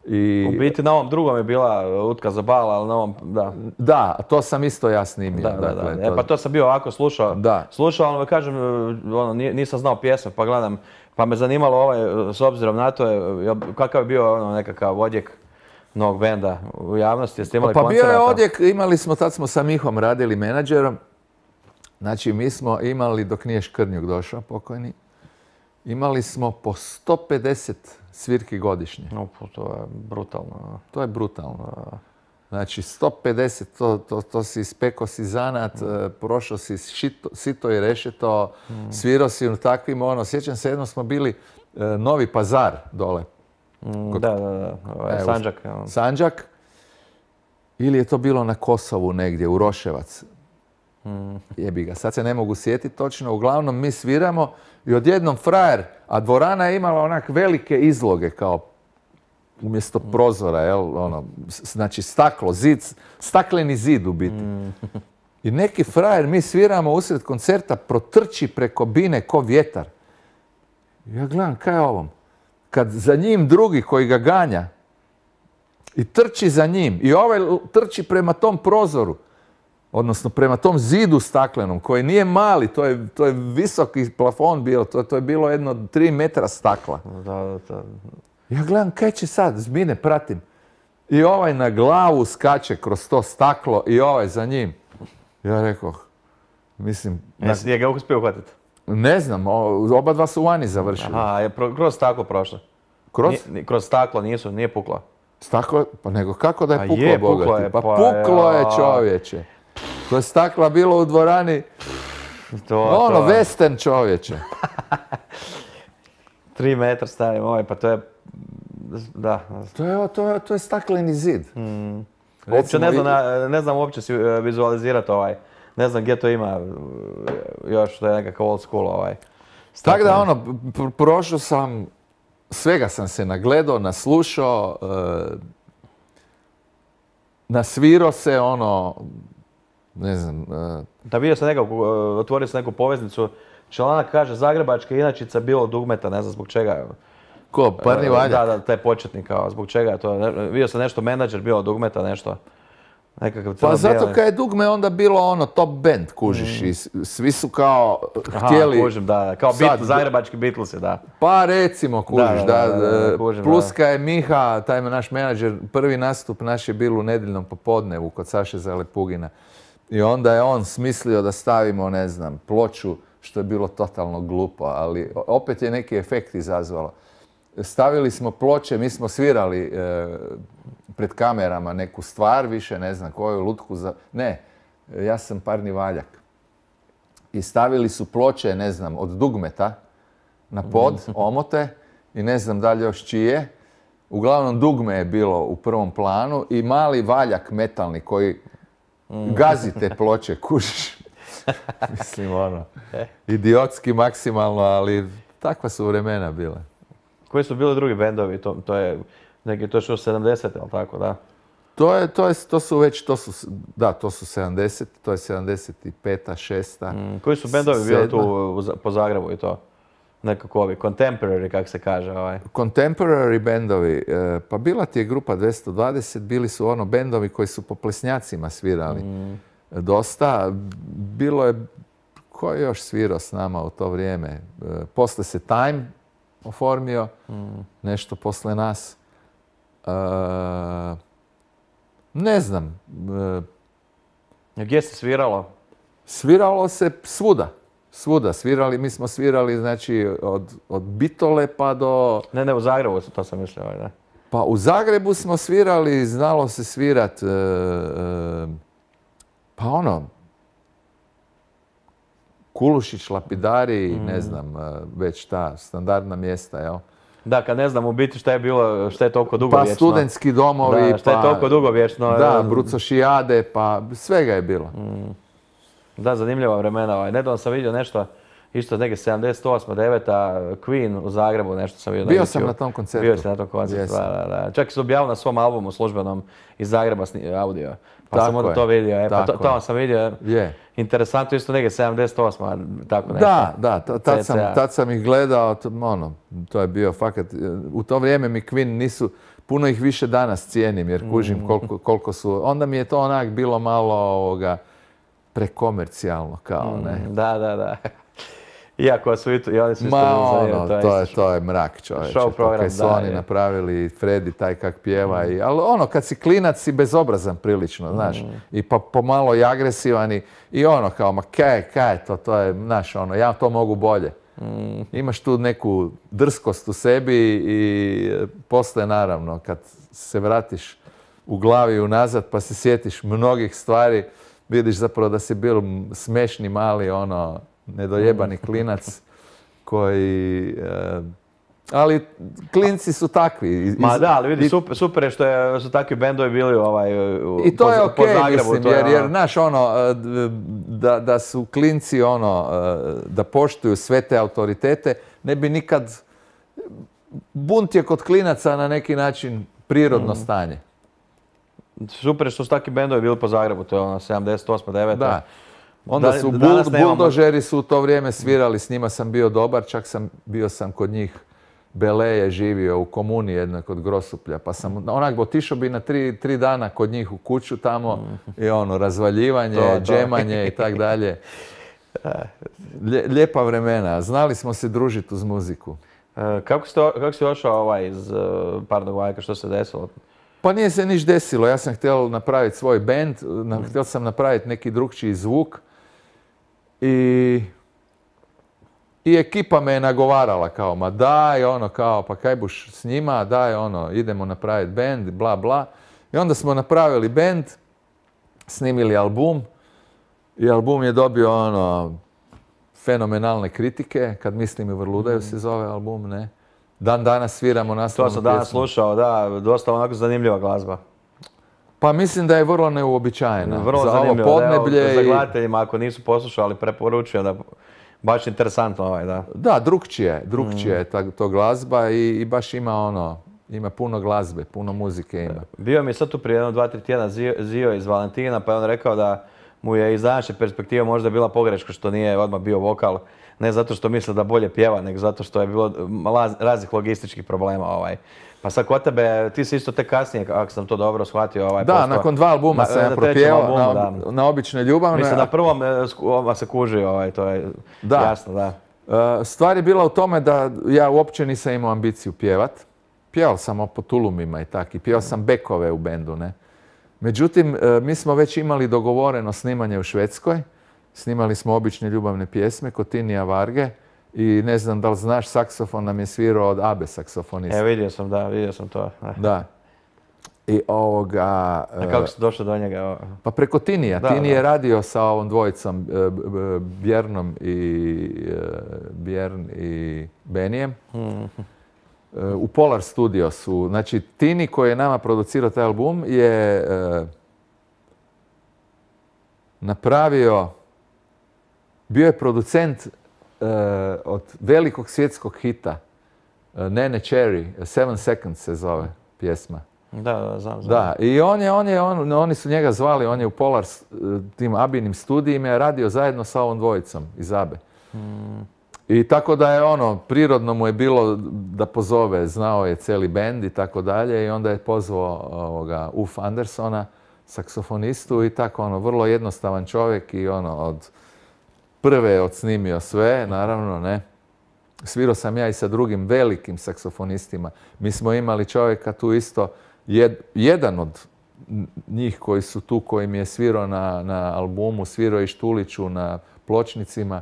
i... U biti na ovom drugom je bila Utka za bal, ali na ovom, da. Da, to sam isto ja snimio. Da, dakle, da, da. E, to... pa to sam bio ovako slušao, da. slušao, ali kažem, ono, nisam znao pjesme, pa gledam, pa me zanimalo ovaj, s obzirom na to, kakav je bio ono, nekakav odjek novog benda u javnosti, jeste imali pa koncerata? Pa bio je odjek, imali smo, tad smo sa Mihom radili menadžerom, znači mi smo imali, dok nije Škrnjuk došao, pokojni, imali smo po sto pedeset svirki godišnje. No, to je brutalno. To je brutalno. Znači, sto pedeset, to, to, to si ispekao si zanat, mm. prošao si šito, sito i rešeto, mm. svirao si u takvim, ono, sjećam se, jedno smo bili e, Novi Pazar dole. Mm, Kod, da, da, da, ovaj, Sanđak. Ja. Sanđak. Ili je to bilo na Kosovu negdje, u Roševac. Mm. Jebi ga, sad se ne mogu sjetiti točno, uglavnom mi sviramo i odjednom frajer, a dvorana je imala onak velike izloge kao umjesto prozora, jel, ono, znači staklo, zid, stakleni zid u biti. Mm. I neki frajer, mi sviramo usred koncerta, protrči preko bine ko vjetar. Ja gledam, kaj je ovom? Kad za njim drugi koji ga ganja i trči za njim i ovaj trči prema tom prozoru, odnosno prema tom zidu staklenom, koji nije mali, to je, to je visoki plafon bilo, to, to je bilo jedno tri metra stakla. Da, da, da. Ja gledam, kaj će sad, zbine, pratim. I ovaj na glavu skače kroz to staklo i ovaj za njim. Ja rekao, mislim... Jesi je ga uspio uhvatiti? Ne znam, oba dva su vani završili. Aha, je pro, kroz staklo prošlo. Kroz? Nije, kroz staklo nisu, nije puklo. Staklo? Pa nego kako da je puklo, je, bogati? Puklo je, pa, pa puklo je, je čovječe. To je stakla bilo u dvorani, to, ono, to. western čovječe. Tri metra stavim ovaj, pa to je, da. To je, to je, to je stakleni zid. Mm. Uopće ne znam, i... ne znam uopće si vizualizirati ovaj, ne znam gdje to ima još, to je nekakav old school ovaj. Tako da ono, prošao sam svega sam se nagledao, naslušao, e, nasvirao se, ono, ne znam... E, da vidio sam nekako, otvorio sam neku poveznicu, članak kaže Zagrebačka inačica bilo dugmeta, ne znam zbog čega. Ko, Parni Valjak? Da, da, taj početnik, kao, zbog čega je to, vidio sam nešto menadžer bilo dugmeta, nešto. Nekakav Pa zato kad je dugme onda bilo ono top band, kužiš, mm. i svi su kao Aha, htjeli... kužim, da, kao sad, Beatles, zagrebački Beatlesi, da. Pa recimo, kužiš, da, da, da, da, da kužim, plus da. kad je Miha, taj naš menadžer, prvi nastup naš je bilo u nedjeljnom popodnevu kod Saše Zalepugina. I onda je on smislio da stavimo, ne znam, ploču, što je bilo totalno glupo, ali opet je neki efekt izazvalo. Stavili smo ploče, mi smo svirali e, pred kamerama neku stvar, više ne znam koju, lutku za... Ne, ja sam Parni Valjak. I stavili su ploče, ne znam, od dugmeta na pod, omote, i ne znam dalje još čije. Uglavnom dugme je bilo u prvom planu i mali valjak metalni koji gazi te ploče, kužiš. Mislim, ono, idiotski maksimalno, ali takva su vremena bile. Koji su bili drugi bendovi? To, to je neki, to je što sedamdesete, ali tako, da? To je, to je, to su već, to su, da, to su sedamdeset, to je sedamdeset peta, šesta. Mm, koji su bendovi bili tu u, po Zagrebu i to? Nekako ovi, contemporary, kak se kaže, ovaj. Contemporary bendovi, e, pa bila ti je grupa dvjesto dvadeset, bili su ono bendovi koji su po plesnjacima svirali. Mm. Dosta, bilo je, ko je još svirao s nama u to vrijeme? E, posle se Time oformio, mm. nešto posle nas. E, ne znam. E, Gdje se sviralo? Sviralo se svuda. Svuda svirali, mi smo svirali, znači, od, od Bitole pa do... Ne, ne, u Zagrebu, to sam mislio, da. Pa u Zagrebu smo svirali, znalo se svirat, e, e, pa ono, Kulušić, Lapidari, mm. ne znam, već ta standardna mjesta, jel? Da, kad ne znam u biti šta je bilo, šta je toliko dugo pa vječno. Pa studentski domovi, da, šta je pa... toliko dugo vječno. Da, Brucošijade, pa svega je bilo. Mm. Da, zanimljiva vremena. Ovaj. Nedavno sam vidio nešto, isto neke sedamdeset osma, deveta Queen u Zagrebu, nešto sam vidio. Bio na sam na tom koncertu. Bio sam na tom koncertu, da, da, da. Čak su objavili na svom albumu službenom iz Zagreba audio. Pa tako sam onda to vidio. E, pa to, to sam vidio. Je. Interesantno, isto neke sedamdeset osma, tako nešto. Da, da, tad sam, tad sam ih gledao, ono, to je bio fakat, u to vrijeme mi Queen nisu, puno ih više danas cijenim jer kužim koliko, koliko su, onda mi je to onak bilo malo ovoga, prekomercijalno kao, ne? Mm, da, da, da. Iako su i, tu, i oni su isto Ma bili ono, to, to je, to je mrak, čovječe. Show program, kaj su da, oni je. napravili, Freddy taj kak pjeva. Mm. I, ali ono, kad si klinac si bezobrazan prilično, znaš. Mm. I pa pomalo i agresivan i, i ono kao, ma kaj, kaj to, to je, znaš, ono, ja to mogu bolje. Mm. Imaš tu neku drskost u sebi i poslije naravno, kad se vratiš u glavi unazad pa se sjetiš mnogih stvari, vidiš zapravo da si bil smešni, mali, ono, nedojebani klinac koji... E, ali klinci su takvi. Ma da, ali vidi, super, super je što je, su takvi bendovi bili ovaj, u, I to po, je okej, po Zagrebu. mislim, to je, jer, jer, znaš, ono, da, da su klinci, ono, da poštuju sve te autoritete, ne bi nikad... Bunt je kod klinaca na neki način prirodno mm. stanje. Super je što su takvi bendovi bili po Zagrebu, to je ono sedamdeset osma, deveta. Da. Onda su bul, buldožeri su u to vrijeme svirali, s njima sam bio dobar, čak sam bio sam kod njih, Bele je živio u komuni jednoj kod Grosuplja, pa sam onak otišao bi na tri, tri dana kod njih u kuću tamo i ono, razvaljivanje, to, to. džemanje i tak dalje. Lijepa vremena, znali smo se družiti uz muziku. E, kako, ste, kako si došao ovaj iz uh, Parnog Valjka, što se desilo? Pa nije se niš desilo, ja sam htio napraviti svoj band, mm. htio sam napraviti neki drugčiji zvuk i, i ekipa me je nagovarala kao, ma daj, ono kao, pa kaj buš s njima, daj, ono, idemo napraviti band, bla, bla. I onda smo napravili band, snimili album i album je dobio, ono, fenomenalne kritike, Kad mislim i vrludaju se zove album, ne? Dan danas sviramo naslovnu pjesmu. To sam danas pjesmu. slušao, da, dosta onako zanimljiva glazba. Pa mislim da je vrlo neuobičajena. Vrlo za zanimljivo. Ovo podneblje Evo, i... za gledateljima, ako nisu poslušali, preporučujem da Baš interesantno ovaj, da. Da, drukčije, drukčije je ta, to glazba i, i baš ima ono, ima puno glazbe, puno muzike ima. Bio mi je sad tu prije jedno, dva, tri tjedna Zio, Zio iz Valentina, pa je on rekao da mu je iz današnje perspektive možda bila pogreška što nije odmah bio vokal. Ne zato što misle da bolje pjeva, nego zato što je bilo raznih logističkih problema. Ovaj. Pa sad kod tebe, ti si isto tek kasnije, ako sam to dobro shvatio, ovaj, da, postao, nakon dva albuma na, sam ja na propjevao albumu, na, da. na Obične ljubavne. Mislim, na prvom a, se kuži, ovaj, to je da. jasno, da. Uh, stvar je bila u tome da ja uopće nisam imao ambiciju pjevat. Pjevao sam po tulumima i tak, i pjevao sam bekove u bendu, ne. Međutim, uh, mi smo već imali dogovoreno snimanje u Švedskoj. Snimali smo Obične ljubavne pjesme kod Tinija Varge. I ne znam da li znaš, saksofon nam je svirao od Abe saksofonista. E, vidio sam, da, vidio sam to. Da. I ovoga... A kako si došao do njega? Pa preko Tinija. Da, Tini da. je radio sa ovom dvojicom, Bjernom i Bjern i Benijem. Hmm. U Polar Studio su. Znači, Tini koji je nama producirao taj album je napravio, bio je producent od velikog svjetskog hita Nene Cherry, Seven Seconds se zove pjesma. Da, da, znam, znam. Da, i on je, on je, on, oni su njega zvali, on je u Polar tim Abinim studijima radio zajedno sa ovom dvojicom iz Abe. Hmm. I tako da je ono, prirodno mu je bilo da pozove, znao je cijeli bend i tako dalje i onda je pozvao ovoga Uf Andersona, saksofonistu i tako ono, vrlo jednostavan čovjek i ono, od prve je odsnimio sve, naravno, ne. Svirao sam ja i sa drugim velikim saksofonistima. Mi smo imali čovjeka tu isto, jed, jedan od njih koji su tu, koji mi je svirao na, na albumu, svirao i Štuliću na pločnicima,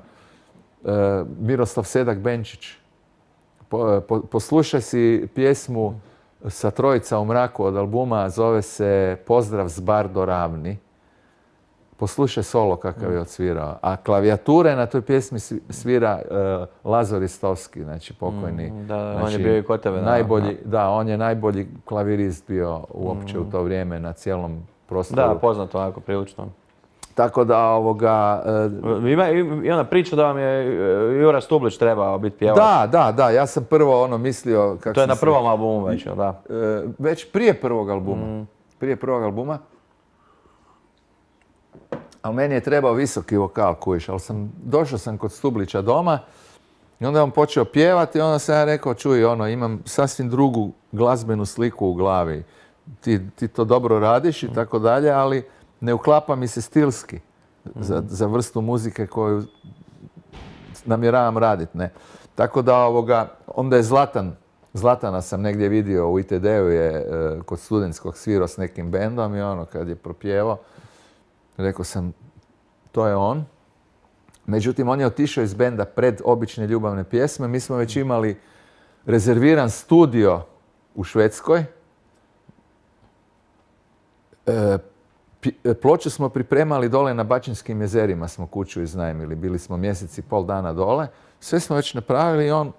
e, Miroslav Sedak Benčić. Po, po, poslušaj si pjesmu Sa trojica u mraku od albuma, zove se Pozdrav z Bardo Ravni. Poslušaj solo kakav je odsvirao. A klavijature na toj pjesmi svira uh, Lazar Ristovski, znači pokojni. Mm, da, znači, on je bio i kod tebe. Najbolji, da, da, on je najbolji klavirist bio uopće mm. u to vrijeme na cijelom prostoru. Da, poznato onako prilično. Tako da ovoga... Uh, Ima i ona priča da vam je Jura Stublić trebao biti pjevač. Da, da, da. Ja sam prvo ono mislio... Kak to je na se, prvom albumu već, da? Uh, već prije prvog albuma. Mm. Prije prvog albuma. Ali meni je trebao visoki vokal, kujiš, ali sam, došao sam kod Stublića doma i onda je on počeo pjevati i onda sam ja rekao, čuj, ono, imam sasvim drugu glazbenu sliku u glavi. Ti, ti to dobro radiš i tako dalje, ali ne uklapa mi se stilski za, za vrstu muzike koju namjeravam raditi, ne. Tako da ovoga, onda je Zlatan, Zlatana sam negdje vidio u I T D-u je kod studentskog svirao s nekim bendom i ono, kad je propjevao, rekao sam, to je on. Međutim, on je otišao iz benda pred Obične ljubavne pjesme. Mi smo već imali rezerviran studio u Švedskoj. E, ploču smo pripremali dole na Bačinskim jezerima, smo kuću iznajmili. Bili smo mjesec i pol dana dole. Sve smo već napravili i on,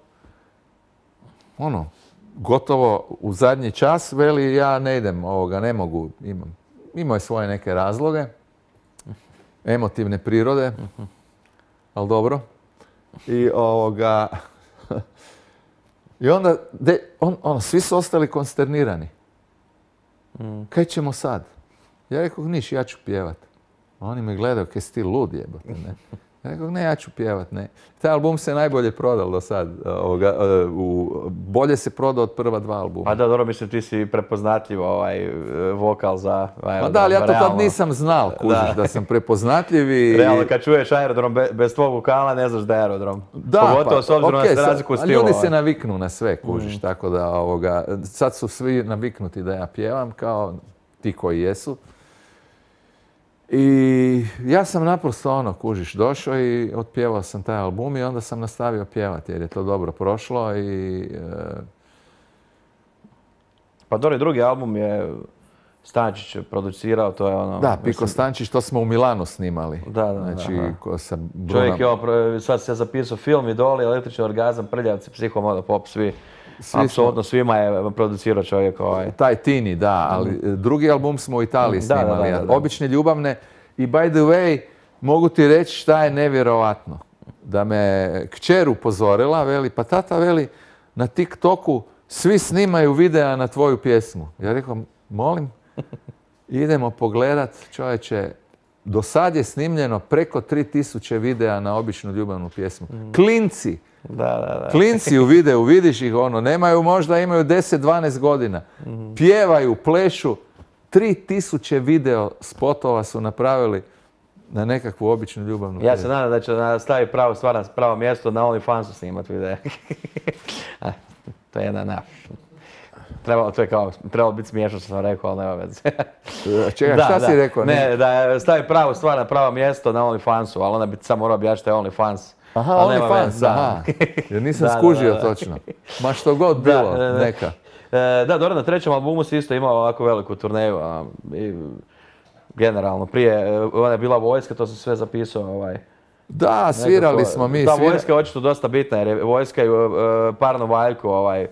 ono, gotovo u zadnji čas veli, ja ne idem ovoga, ne mogu, imam. Imao je svoje neke razloge, emotivne prirode, ali dobro. I ovoga... I onda, de, on, ono, svi su ostali konsternirani. Mm. Kaj ćemo sad? Ja rekao, niš, ja ću pjevat. A oni me gledaju, kaj si ti lud jebote, ne? Ja rekao, ne, ja ću pjevat, ne. Taj album se najbolje prodal do sad. Ovoga, u, bolje se prodao od prva dva albuma. Pa da, dobro, mislim, ti si prepoznatljiv ovaj vokal za aerodrom. Pa da, ali ja to tad nisam znal, kužiš, da, da sam prepoznatljiv i... Realno, kad čuješ aerodrom be, bez tvog vokala, ne znaš da je aerodrom. Da, pogotovo pa, s obzirom okay, na razliku u stilu. Ljudi ovaj. se naviknu na sve, kužiš, mm. tako da ovoga, sad su svi naviknuti da ja pjevam, kao ti koji jesu. I ja sam naprosto ono, kužiš, došao i otpjevao sam taj album i onda sam nastavio pjevati jer je to dobro prošlo i... E... Pa dobro, drugi album je Stančić producirao, to je ono... Da, Piko mislim... Stančić, to smo u Milanu snimali. Da, da, znači, da. Ko sa Brunom... Čovjek je ovo, sad se zapisao film Idoli, Električni orgazam, Prljavci, Psihomoda, Pop, svi. Svi apsolutno smo... svima je producirao čovjek ovaj. Taj Tini, da, ali mm. drugi album smo u Italiji snimali. Da, da, da, da. Obične ljubavne. I by the way, mogu ti reći šta je nevjerovatno. da me kćer upozorila, veli, pa tata, veli, na TikToku svi snimaju videa na tvoju pjesmu. Ja rekao, molim, idemo pogledat, čovječe, do sad je snimljeno preko tri tisuće videa na običnu ljubavnu pjesmu. Mm. Klinci, da, da, da. klinci u videu, vidiš ih, ono, nemaju, možda imaju deset dvanaest godina, mm. pjevaju, plešu, tri tisuće video spotova su napravili na nekakvu običnu ljubavnu pjesmu. Ja se nadam da će staviti pravo stvar na pravo mjesto, na OnlyFansu snimat videa. To je jedna na... Trebalo, to je kao, trebalo biti smiješno što sam rekao, ali nema veze. Čekaj, šta da, si rekao? Ne, da stavi pravu stvar na pravo mjesto na OnlyFansu, ali onda bi sam morao objašnjati što je OnlyFans. Aha, OnlyFans, aha. Jer nisam da, skužio da, da, da. Točno. Ma što god bilo, da, neka. E, da, dobro, na trećem albumu si isto imao ovako veliku turneju. A, i, generalno, prije, ona je bila vojska, to sam sve zapisao. Ovaj. Da, svirali nekako, smo mi. Ta svira... vojska je očito dosta bitna, jer je vojska i uh, Parno Valjko ovaj,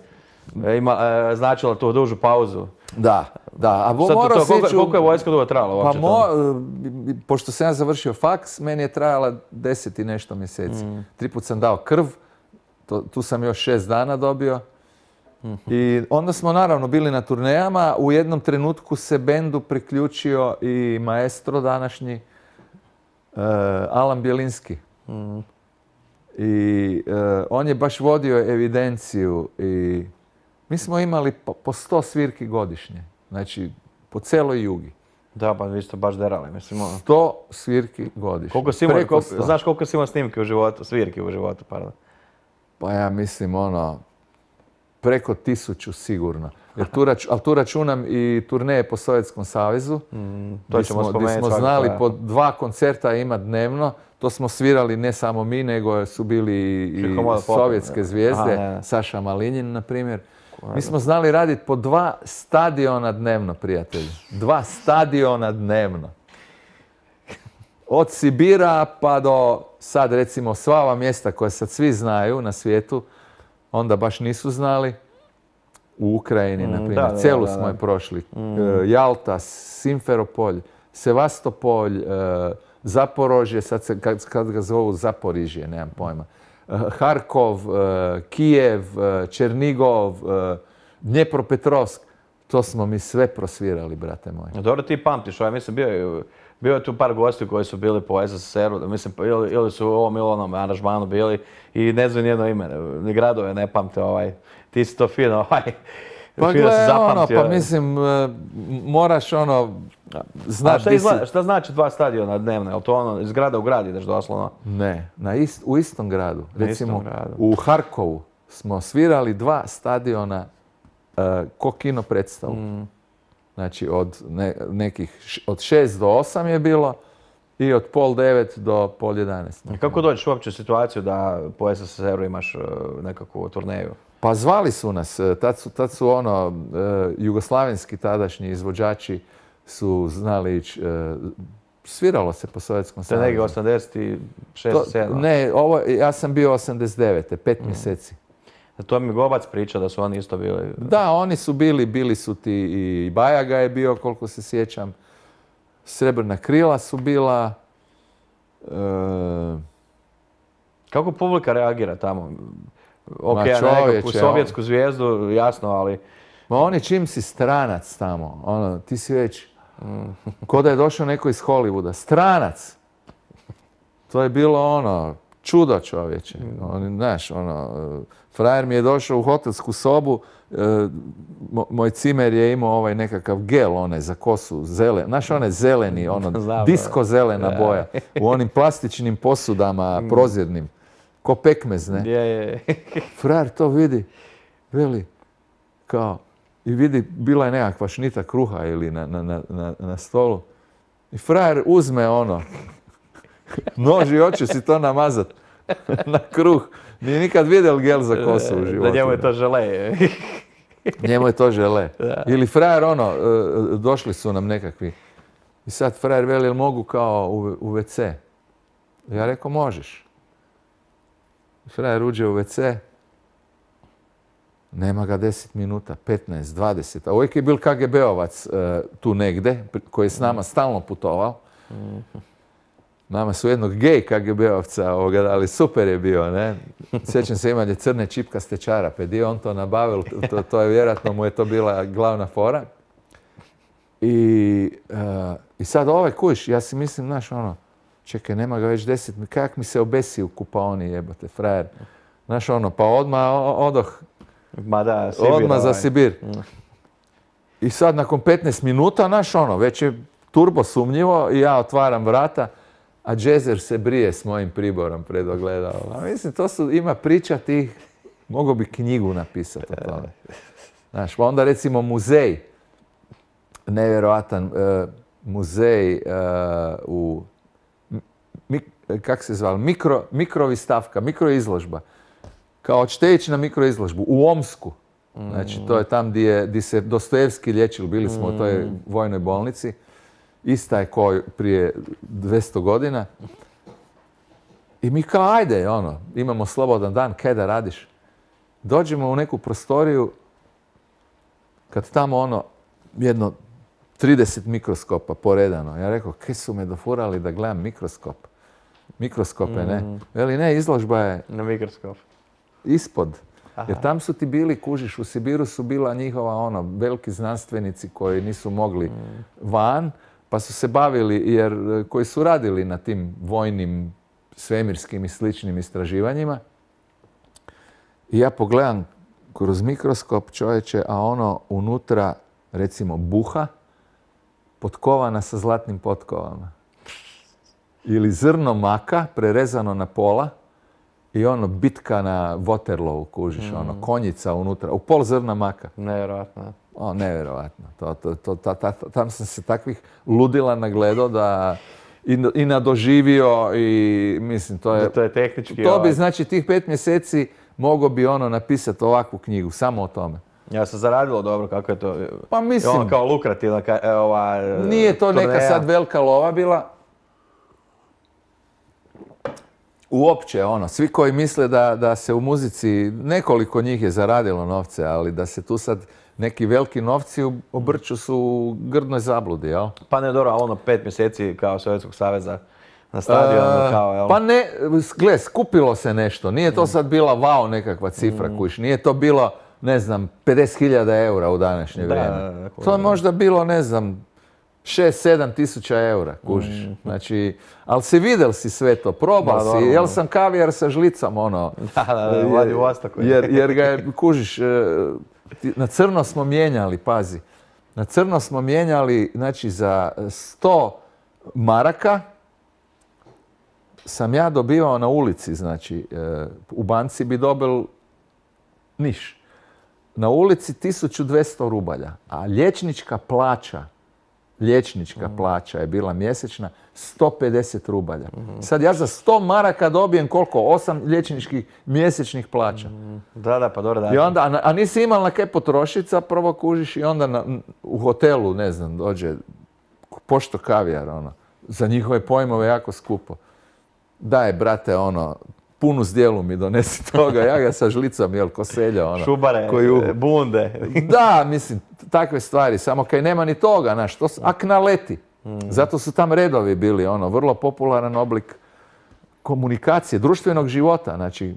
ima, uh, značila tu dužu pauzu. Da, da. A bo to, morao koliko, siću... koliko je vojska dugo trajala uopće? Pa mo, pošto sam ja završio faks, meni je trajala deset i nešto mjeseci. Mm. Tri put sam dao krv, to, tu sam još šest dana dobio. Mm-hmm. I onda smo naravno bili na turnejama. U jednom trenutku se bendu priključio i maestro današnji, uh, Alan Bjelinski. Mm. I uh, on je baš vodio evidenciju i mi smo imali po, po sto svirki godišnje, znači po celoj Jugi. Da, pa vi ste baš derali, mislim. Ono. sto svirki godišnje. Koliko si imao, koliko, znaš koliko si imao snimke u životu, svirki u životu, pardon? Pa ja mislim, ono, preko tisuću sigurno. Jer tu, rač, ali tu računam i turneje po Sovjetskom savezu. Mm, to ćemo smo, spomenuti. Gdje smo znali po dva koncerta ima dnevno. To smo svirali ne samo mi, nego su bili i sovjetske zvijezde. Aha, Saša Malinjin, na primjer. Mi smo znali raditi po dva stadiona dnevno, prijatelji. Dva stadiona dnevno. Od Sibira pa do sad, recimo, sva ova mjesta koje sad svi znaju na svijetu, onda baš nisu znali. U Ukrajini, mm, na primjer. Da, Celu da, da, smo je prošli. Mm. Jalta, Simferopolj, Sevastopolj, Zaporožje, sad se, kad, kad ga zovu Zaporižje, nemam pojma. Harkov, Kijev, Černigov, Dnjepropetrovsk. To smo mi sve prosvirali, brate moji. Dobro, ti pamtiš, ja mislim, bio je, bio je tu par gosti koji su bili po S S S R-u, mislim, ili, ili su u ovom ili onom aranžmanu bili i ne znaju nijedno ime, ni gradove ne pamte, ovaj, ti si to fino, ovaj, pa fino gle, ono, pa mislim, moraš ono, znaš šta, izgleda, šta znači dva stadiona dnevno? Je li to ono, iz grada u grad ideš doslovno? Ne, na ist, u istom gradu. Na Recimo, istom gradu. U Harkovu smo svirali dva stadiona uh, ko kino predstavu. Mm. Znači, od ne, nekih, od šest do osam je bilo i od pol devet do pol jedanaest. Kako dođeš uopće u situaciju da po S S S R-u imaš uh, nekakvu turneju? Pa zvali su nas, tad su, tad su ono, uh, jugoslavenski tadašnji izvođači su znali ići, uh, sviralo se po Sovjetskom savezu. To je negdje osamdeset šest sedam. Ne, ovo, ja sam bio osamdeset devete, pet mm. mjeseci. To mi Gobac priča da su oni isto bili. Da, oni su bili, bili su ti i Bajaga je bio, koliko se sjećam. Srebrna krila su bila. Uh, Kako publika reagira tamo? Ok, na nekakvu sovjetsku zvijezdu, jasno, ali... Ma oni čim si stranac tamo, ono, ti si već, mm. ko da je došao neko iz Hollywooda, stranac! To je bilo ono, čudo čovječe. Mm. Oni, znaš, ono, frajer mi je došao u hotelsku sobu, e, moj cimer je imao ovaj nekakav gel, one za kosu, zelen, znaš, one zeleni, ono, Znam, disko zelena ja. boja, u onim plastičnim posudama mm. prozirnim. Ko pekmez, ne? Je, je. Frajer to vidi, veli, kao, i vidi, bila je nekakva šnita kruha ili na, na, na, na stolu. I frajer uzme ono, nož i hoće si to namazat na kruh. Nije nikad vidjel gel za kosu u životu. Da njemu je to žele. Njemu je to žele. Da. Ili frajer ono, došli su nam nekakvi. I sad frajer veli, jel mogu kao u, u ve ce? Ja rekao, možeš. Frajer uđe u ve ce, nema ga deset minuta, petnaest, dvadeset, a uvijek je bil ka ge be ovac uh, tu negde, koji je s nama stalno putovao. Nama su jednog gej K G B-ovca, ali super je bio, ne? Sjećam se, imanje crne čipkaste čarape. Di je on to nabavil, to, to je vjerojatno mu je to bila glavna fora. I, uh, i sad ovaj kuš, ja si mislim, znaš, ono, čekaj, nema ga već deset, kak mi se obesi u kupaoni, jebote, frajer. Znaš, ono, pa odmah odoh, Ma da, Sibir, odmah za ovaj. Sibir. I sad, nakon petnaest minuta, znaš, ono, već je turbo sumnjivo i ja otvaram vrata, a Džezer se brije s mojim priborom pred ogledalom. A mislim, to su, ima priča tih, mogo bi knjigu napisati o tome. Znaš, pa onda recimo muzej, nevjerojatan uh, muzej uh, u, mi, kak se zvali, mikro, mikrovistavka, mikroizložba. Kao hoćete ići na mikroizložbu u Omsku. Znači, to je tam gdje, gdje se Dostojevski liječili, bili smo u toj vojnoj bolnici. Ista je ko prije dvjesto godina. I mi kao, ajde, ono, imamo slobodan dan, kaj da radiš? Dođemo u neku prostoriju, kad tamo ono, jedno trideset mikroskopa poredano. Ja rekao, kaj su me dofurali da gledam mikroskop? Mikroskope, ne? Veli, ne, izložba je Na mikroskop. ispod. Jer tam su ti bili, kužiš, u Sibiru su bila njihova, ono, veliki znanstvenici koji nisu mogli van, pa su se bavili, jer koji su radili na tim vojnim, svemirskim i sličnim istraživanjima. I ja pogledam kroz mikroskop, čovječe, a ono unutra, recimo, buha, potkovana sa zlatnim potkovama. Ili zrno maka, prerezano na pola, i ono, bitka na Waterloo, kužiš, mm. ono, konjica unutra, u pol zrna maka. Nevjerojatno. O, nevjerojatno. To, to, to, ta, ta, tam sam se takvih ludila nagledao da i, i nadoživio i mislim, to je... Da to je tehnički... To bi, ovaj... znači, tih pet mjeseci mogao bi ono napisati ovakvu knjigu, samo o tome. Ja se zaradilo dobro, kako je to... Pa mislim... Ono kao lukrativna ova... Nije to turneja. neka sad velika lova bila. Uopće, ono, svi koji misle da, da se u muzici, nekoliko njih je zaradilo novce, ali da se tu sad neki veliki novci obrću su u grdnoj zabludi, jel? Pa ne, dobro, ali ono pet mjeseci kao Sovjetskog saveza na stadionu, E, kao, jel? Pa ne, gle, skupilo se nešto. Nije to sad bila wow nekakva cifra, mm. kuš. Nije to bilo, ne znam, pedeset hiljada eura u današnje Da, vrijeme. da, da, To je možda bilo, ne znam, šest sedam tisuća eura, kužiš. Mm. Znači, ali si vidjel si sve to, probao Da, si, dobro. jel sam kavijar sa žlicom, ono. Da, da, da, Vladivostoku. Jer, jer ga je, kužiš, e, ti- na crno smo mijenjali, pazi. Na crno smo mijenjali, znači, za sto maraka sam ja dobivao na ulici, znači, e, u banci bi dobil niš. Na ulici tisuću dvjesto rubalja, a liječnička plaća, liječnička plaća je bila mjesečna sto pedeset rubalja. Sad ja za sto maraka dobijem koliko? osam liječničkih mjesečnih plaća. Da, da, pa dobro, da. I onda, a, a nisi imal na kaj potrošit, prvo kužiš i onda na, u hotelu, ne znam, dođe pošto kavijar, ono, za njihove pojmove jako skupo. Daj, brate, ono, punu zdjelu mi donesi toga, ja ga sa žlicom, jel, ko selja, ono. Šubare, koju- bunde. Da, mislim, takve stvari, samo kaj nema ni toga, znaš, to su aknaleti. Zato su tam redovi bili, ono, vrlo popularan oblik komunikacije, društvenog života, znači,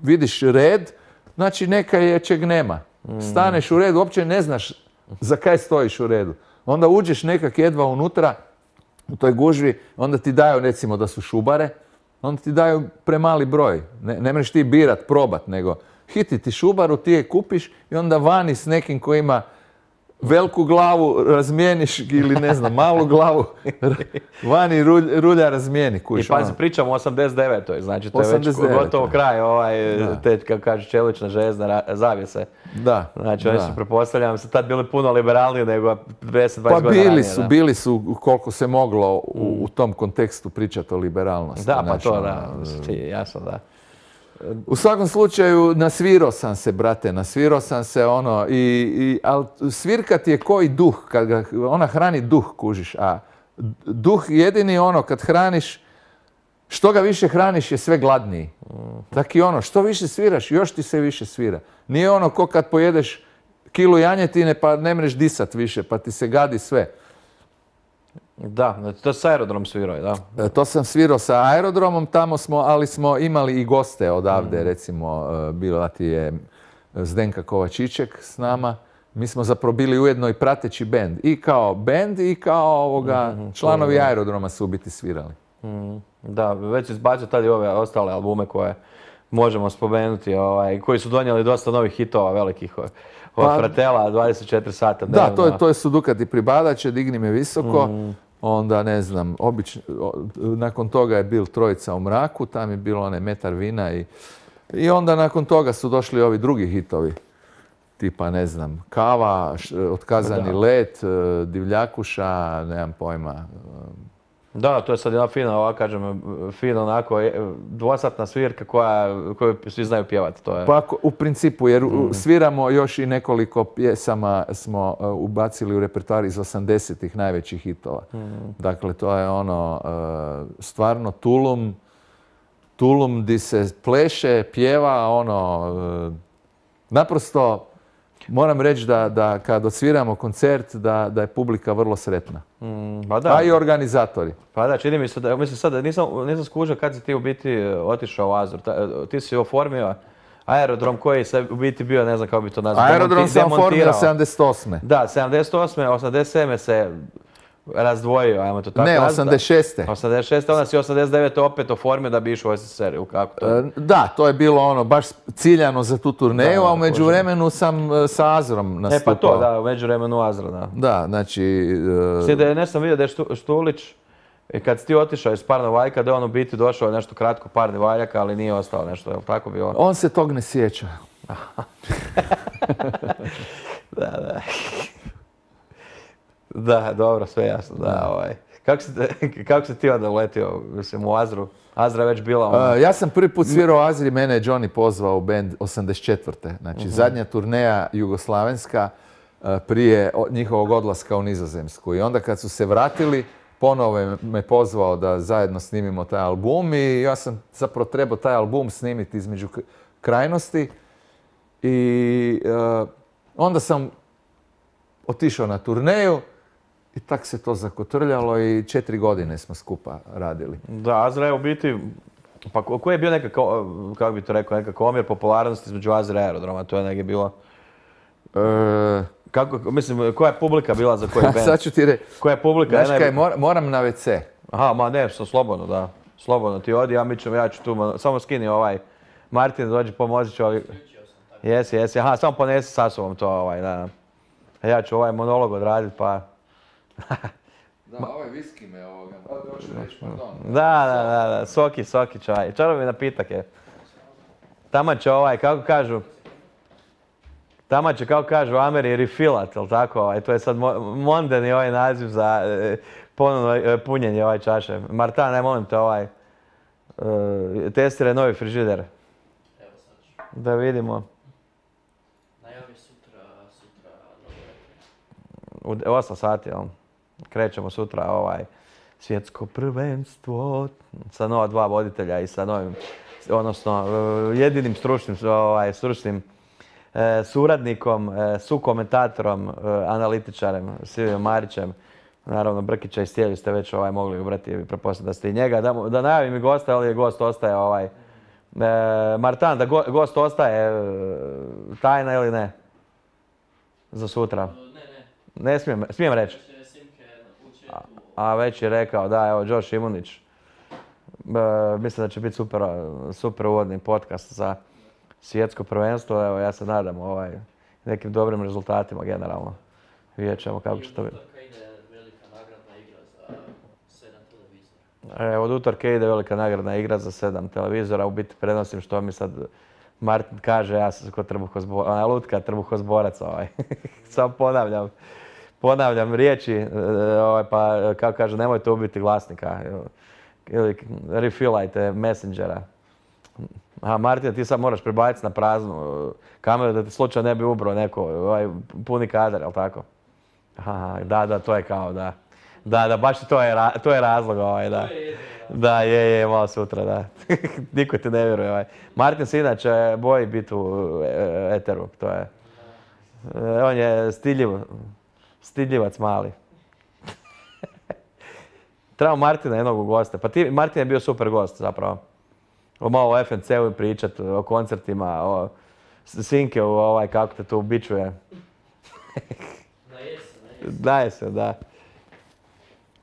vidiš red, znači neka je čeg nema. Staneš u red, uopće ne znaš za kaj stojiš u redu. Onda uđeš nekak jedva unutra, u toj gužvi, onda ti daju, recimo, da su šubare, onda ti daju premali broj. Ne, ne možeš ti birat, probat, nego hiti ti šubaru, ti je kupiš i onda vani s nekim koji ima veliku glavu razmijeniš ili ne znam, malu glavu, vani rulja, rulja razmijeni. Kuš, I pazi, ono. pričamo o osamdeset devetoj znači to je već osamdeset devetoj gotovo kraj, ovaj, Da. te, kako kaže, čelična željezna ra- zavjese. Da, Znači, oni da. su, pretpostavljam, se tad bili puno liberalniji nego deset dvadeset Pa godina bili ranije, su, da. bili su koliko se moglo u, u tom kontekstu pričati o liberalnosti. Da, pa znaš, to, ono, da, ti, jasno, da. U svakom slučaju, nasvirao sam se, brate, nasvirao sam se, ono, i, i, ali svirkat je koji duh, kad ga, ona hrani duh, kužiš, a duh jedini, ono, kad hraniš, što ga više hraniš je sve gladniji. Tako i ono, što više sviraš, još ti se više svira. Nije ono ko kad pojedeš kilu janjetine pa ne mreš disat više, pa ti se gadi sve. Da, to je s Aerodrom svirao, da. E, To sam svirao sa Aerodromom, tamo smo, ali smo imali i goste odavde, recimo e, bila ti je Zdenka Kovačićek s nama. Mi smo zapravo bili ujedno i prateći bend. I kao bend i kao ovoga, članovi Aerodroma su u biti svirali. Mm, Da, već izbacio tad i ove ostale albume koje možemo spomenuti, ovaj, koji su donijeli dosta novih hitova velikih. Od Pa- Fratela, dvadeset četiri sata Da, dnevno. to je, to je su Dukati Pribadače, Digni me visoko. Onda, ne znam, obično, o- nakon toga je bil Trojica u mraku, tam je bilo onaj Metar vina i, i onda nakon toga su došli ovi drugi hitovi. Tipa, ne znam, Kava, š- Otkazani Da. let, e, Divljakuša, nemam pojma. Da, to je sad jedna fina, ovako kažem, fina onako e, dvosatna svirka koja, koju svi znaju pjevati. To je... Pa ako- u principu, jer u- sviramo još i nekoliko pjesama smo e, ubacili u repertoar iz osamdesetih najvećih hitova. Dakle, to je ono, e, stvarno tulum, tulum di se pleše, pjeva, ono, e, naprosto moram reći da, da kad odsviramo koncert, da, da je publika vrlo sretna. Mm, pa da, A i organizatori. pa da, čini mi se da, mislim sad, nisam, nisam skužio kad si ti u biti e, otišao u Azur. Ta- ti si oformio Aerodrom koji se u biti bio, ne znam kako bi to nazvao, Aerodrom demonti- sam oformio demontirao. sedamdeset osme. Da, sedamdeset osme, osamdeset sedme se razdvojio, ajmo to tako Ne, nazvati. osamdeset šeste. osamdeset šeste, onda si osamdeset devete opet oformio da bi išao u S S S R, ili kako to je? E, Da, to je bilo ono baš ciljano za tu turneju, Da, a u da, međuvremenu sam e, sa Azorom E nastupao. pa to, da, u međuvremenu Azra, da. Da, znači... e, Svi da je, ne sam vidio da je Štu- Štulić, i kad si ti otišao iz Parnog valjka, da je on u biti došao nešto kratko Parni valjaka, ali nije ostalo nešto, je li tako bilo? On se tog ne sjeća. Da, da. Da, dobro, sve jasno, da, ovaj. Kako si, kako si ti onda uletio, mislim, u Azru? Azra je već bila ono... E, ja sam prvi put svirao u Azri, mene je Johnny pozvao u band osamdeset četvrte. Znači, zadnja turneja jugoslavenska e, prije o- njihovog odlaska u Nizozemsku. I onda kad su se vratili, ponovo je me pozvao da zajedno snimimo taj album i ja sam zapravo trebao taj album snimiti između k- krajnosti. I e, onda sam otišao na turneju i tak se to zakotrljalo i četiri godine smo skupa radili. Da, Azra je u biti, pa ko- koji je bio nekako, kako bi to rekao, nekako omjer popularnosti između Azra i Aerodroma, to je negdje bilo... E, Kako, mislim, koja je publika bila za koji band? sad ću ti reći. Koja je publika? Znaš Ne, kaj, ne- mor- moram na ve ce. Aha, ma ne, što slobodno, da. Slobodno ti odi, ja mi ću, ja ću tu, ma- samo skini ovaj, Martin dođi, pomozi ću ovi... Jesi, jesi, aha, samo ponesi sa sobom to, ovaj, da. A ja ću ovaj monolog odraditi, pa... Da, ovaj viski me ovoga, hoću reći, pardon. Da, da, da, da, soki, soki čaj. Čarobni napitak je. Tamo će ovaj, kako kažu, tamo će, kako kažu, u Ameri refillat, jel tako? Ovaj, to je sad mo- mondeni ovaj naziv za e, ponovno e, punjenje ovaj čaše. Martan, ne molim te ovaj, e, testiraj novi frižider. Evo sad ću. Da vidimo. Najavi sutra, sutra U nogometne. osam sati, jel? Krećemo sutra ovaj svjetsko prvenstvo sa nova dva voditelja i sa novim, odnosno e, jedinim stručnim, ovaj, stručnim e, suradnikom, e, sukomentatorom, e, analitičarem, Silvijom Marićem. Naravno, Brkića i Stjelju ste već ovaj, mogli ubrati, pretpostavljam da ste i njega. Da, mu- da najavim i gosta, ali je gost ostaje ovaj... E, Martan, da go- gost ostaje e, tajna ili ne? Za sutra. Ne, ne, Ne smijem, smijem reći. još je Simke u četu. A već je rekao, da, evo, Josh Imunić. E, mislim da će biti super, super uvodni podcast za svjetsko prvenstvo. Evo, ja se nadam ovaj, nekim dobrim rezultatima generalno. Vidjet ćemo kako će to biti. Utorka ide velika nagradna igra za sedam televizora. E, od utorka ide velika nagradna igra za sedam televizora. U biti prenosim što mi sad Martin kaže, ja sam kod trbuhozborac, ona lutka trbuhozborac ovaj. Samo ponavljam. Ponavljam riječi, e, ovaj, pa kako kaže, nemojte ubiti glasnika. Ili refillajte Messengera. Aha, Martin, ti sad moraš prebaciti na praznu kameru da ti slučajno ne bi ubrao neko, ovaj, puni kadar, jel tako? Aha, da, da, to je kao, da. Da, da, baš to je, ra- to je razlog, ovaj, da. Da, je, je, malo sutra, da. Niko ti ne vjeruje, ovaj. Martin se inače boji biti u e, eteru, to je. E, on je stidljiv, stidljivac mali. Trebamo Martina jednog gosta. Pa ti, Martin je bio super gost zapravo. O malo o F N C-u pričat, o koncertima, o Sinke, o ovaj, kako te to ubičuje. Na jesen, na jesen. Daje se, da.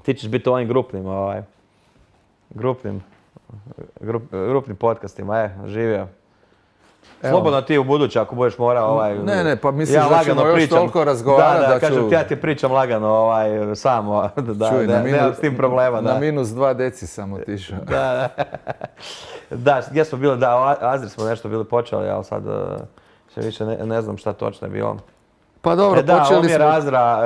Ti ćeš biti ovim grupnim, ovaj, grupnim, grup, grupnim podcastima, e, živio. Evo. Slobodno ti u buduće ako budeš morao ovaj... Ne, ne, pa misliš ja da lagano ćemo još pričam. toliko razgovarati da, da, da ću... kažem ti, ja ti pričam lagano ovaj, samo, da, Čuj, da, na nemam minus- s tim problema, da. Na minus dva deci sam otišao. Da, da. Da, gdje smo bili, da, o Azri smo nešto bili počeli, ali sad uh, sve više ne, ne znam šta točno je bilo. Pa dobro, E da, počeli omjer smo... Azra,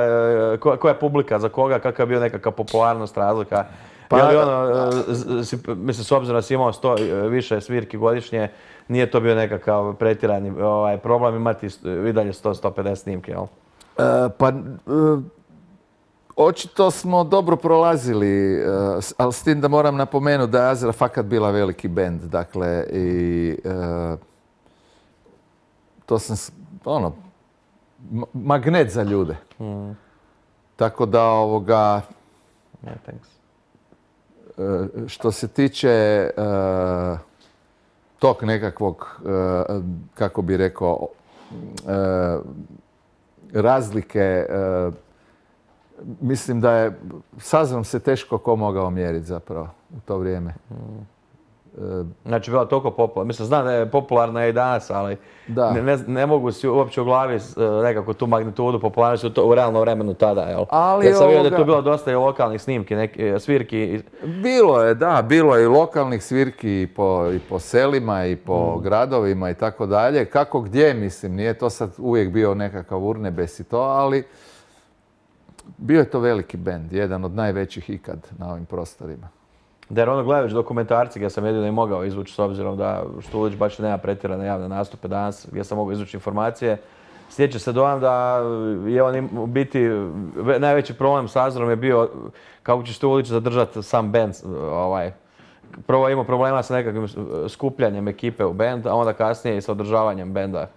e, ko- koja je publika, za koga, kakva je bio nekakva popularnost, razlika. Pa- Je li ono, e, z- si- mislim, s obzirom da si imao sto e, više svirki godišnje, nije to bio nekakav pretjerani ovaj, problem imati st- i dalje sto do sto pedeset snimke, jel? E, pa, e, očito smo dobro prolazili, e, s- ali s tim da moram napomenuti da je Azra fakat bila veliki bend, dakle, i e, to sam, s- ono, ma- magnet za ljude. Tako da, ovoga, Yeah, thanks. e, što se tiče e, tog nekakvog, e, kako bi rekao, e, razlike, e, mislim da je, s Azrom se teško ko mogao mjeriti zapravo u to vrijeme. E, Znači, bila toliko popularna. Mislim, znam da je popularna i danas, ali Da. ne, ne, ne mogu si uopće u glavi s- e, nekako tu magnitudu popularnosti u, to, u realnom vremenu tada, jel? Ali Ja sam vidio da je ovoga- tu bilo dosta i lokalnih snimki, neki, e, svirki. i- Bilo je, da, bilo je i lokalnih svirki i po, i po selima i po gradovima i tako dalje. Kako gdje, mislim, nije to sad uvijek bio nekakav urnebes i to, ali bio je to veliki bend, jedan od najvećih ikad na ovim prostorima. Da, jer ono gledajući dokumentarci gdje sam jedino i mogao izvući s obzirom da Štulić baš nema pretjerane javne nastupe danas gdje sam mogao izvući informacije. Stječe se dojam da je on im- u biti ve- najveći problem s Azrom je bio kako će Štulić zadržati sam band. Ovaj. Prvo je imao problema sa nekakvim skupljanjem ekipe u band, a onda kasnije i sa održavanjem benda.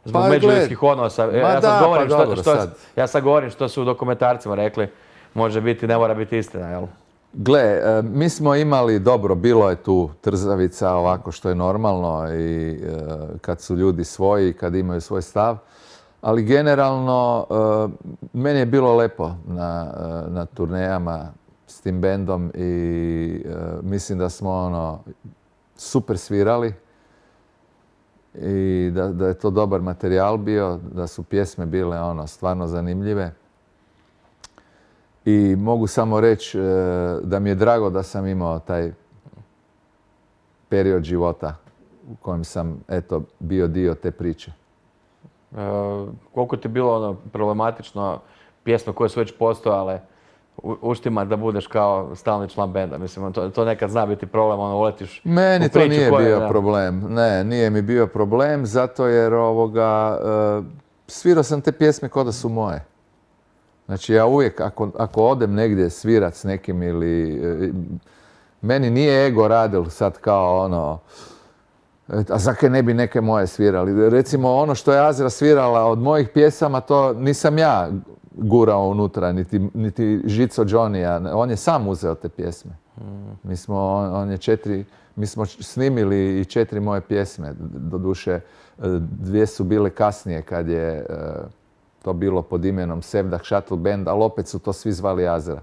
Zbog Pa, međuljudskih odnosa. ma Ja sad da, govorim pa što, dobro, što- sad. ja sad govorim što su u dokumentarcima rekli. Može biti, ne mora biti istina, jel? Gle, e, mi smo imali, dobro, bilo je tu trzavica ovako što je normalno i e, kad su ljudi svoji, kad imaju svoj stav, ali generalno e, meni je bilo lepo na, e, na turnejama s tim bendom i e, mislim da smo ono super svirali i da, da je to dobar materijal bio, da su pjesme bile ono stvarno zanimljive. I mogu samo reći e, da mi je drago da sam imao taj period života u kojem sam, eto, bio dio te priče. E, koliko ti je bilo ono problematično pjesme koje su već postojale u- uštima da budeš kao stalni član benda? Mislim, to, to nekad zna biti problem, ono, uletiš Meni u to priču nije koja- bio da. problem. Ne, nije mi bio problem zato jer ovoga, e, svirao sam te pjesme kao da su moje. Znači ja uvijek, ako, ako odem negdje svirat s nekim ili... e, meni nije ego radil sad kao ono... e, A zakaj ne bi neke moje svirali? Recimo ono što je Azra svirala od mojih pjesama, to nisam ja gurao unutra, niti, niti Žico Johnny-a. On je sam uzeo te pjesme. Mi smo, on, on je četiri, mi smo snimili i četiri moje pjesme. Doduše, e, dvije su bile kasnije kad je e, to bilo pod imenom Sevdah Shuttle Band, ali opet su to svi zvali Azra.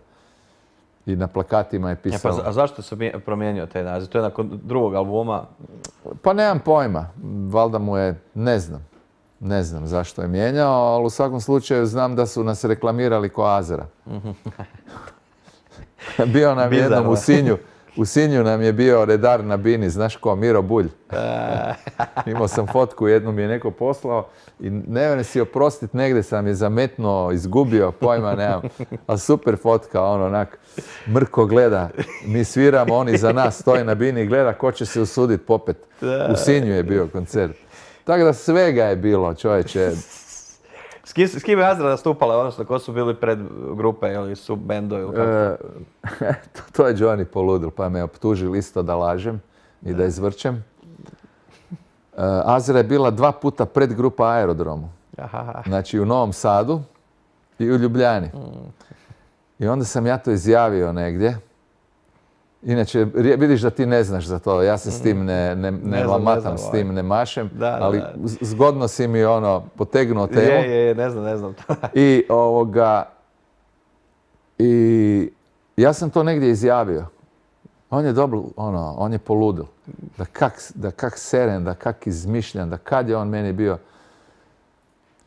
I na plakatima je E, pa, pisalo... za- a zašto se mi- promijenio taj naziv? To je nakon drugog albuma. Pa nemam pojma. Valjda mu je, ne znam. Ne znam zašto je mijenjao, ali u svakom slučaju znam da su nas reklamirali ko Azra. Bio nam Bizarno. jednom u Sinju. U Sinju nam je bio redar na bini, znaš ko, Miro Bulj. Imao sam fotku, jednu mi je neko poslao i ne vjerujem si oprostit, negdje sam je zametnuo, izgubio, pojma nemam. Ali super fotka, ono onak, Mrko gleda, mi sviramo, oni za nas stoje na bini i gleda ko će se usudit popet. U Sinju je bio koncert. Tako da svega je bilo, čovječe. S kim, s kim je Azra nastupala, odnosno ko su bili pred grupe ili su bendo ili kako? E, to, to je Johnny poludil, pa me optužili isto da lažem i da izvrćem. E, Azra je bila dva puta pred grupa Aerodromu. Aha. Znači u Novom Sadu i u Ljubljani. I onda sam ja to izjavio negdje Inače, rije- vidiš da ti ne znaš za to, ja se s tim ne, ne, ne, Ne znam, ne lamatam, znam, s ovaj. tim ne mašem, Da, da, ali da. z- zgodno si mi ono potegnuo temu. Je, je, je, ne znam, ne znam. I ovoga, i ja sam to negdje izjavio. On je dobro, ono, on je poludil. Da kak, da kak seren, da kak izmišljan, da kad je on meni bio.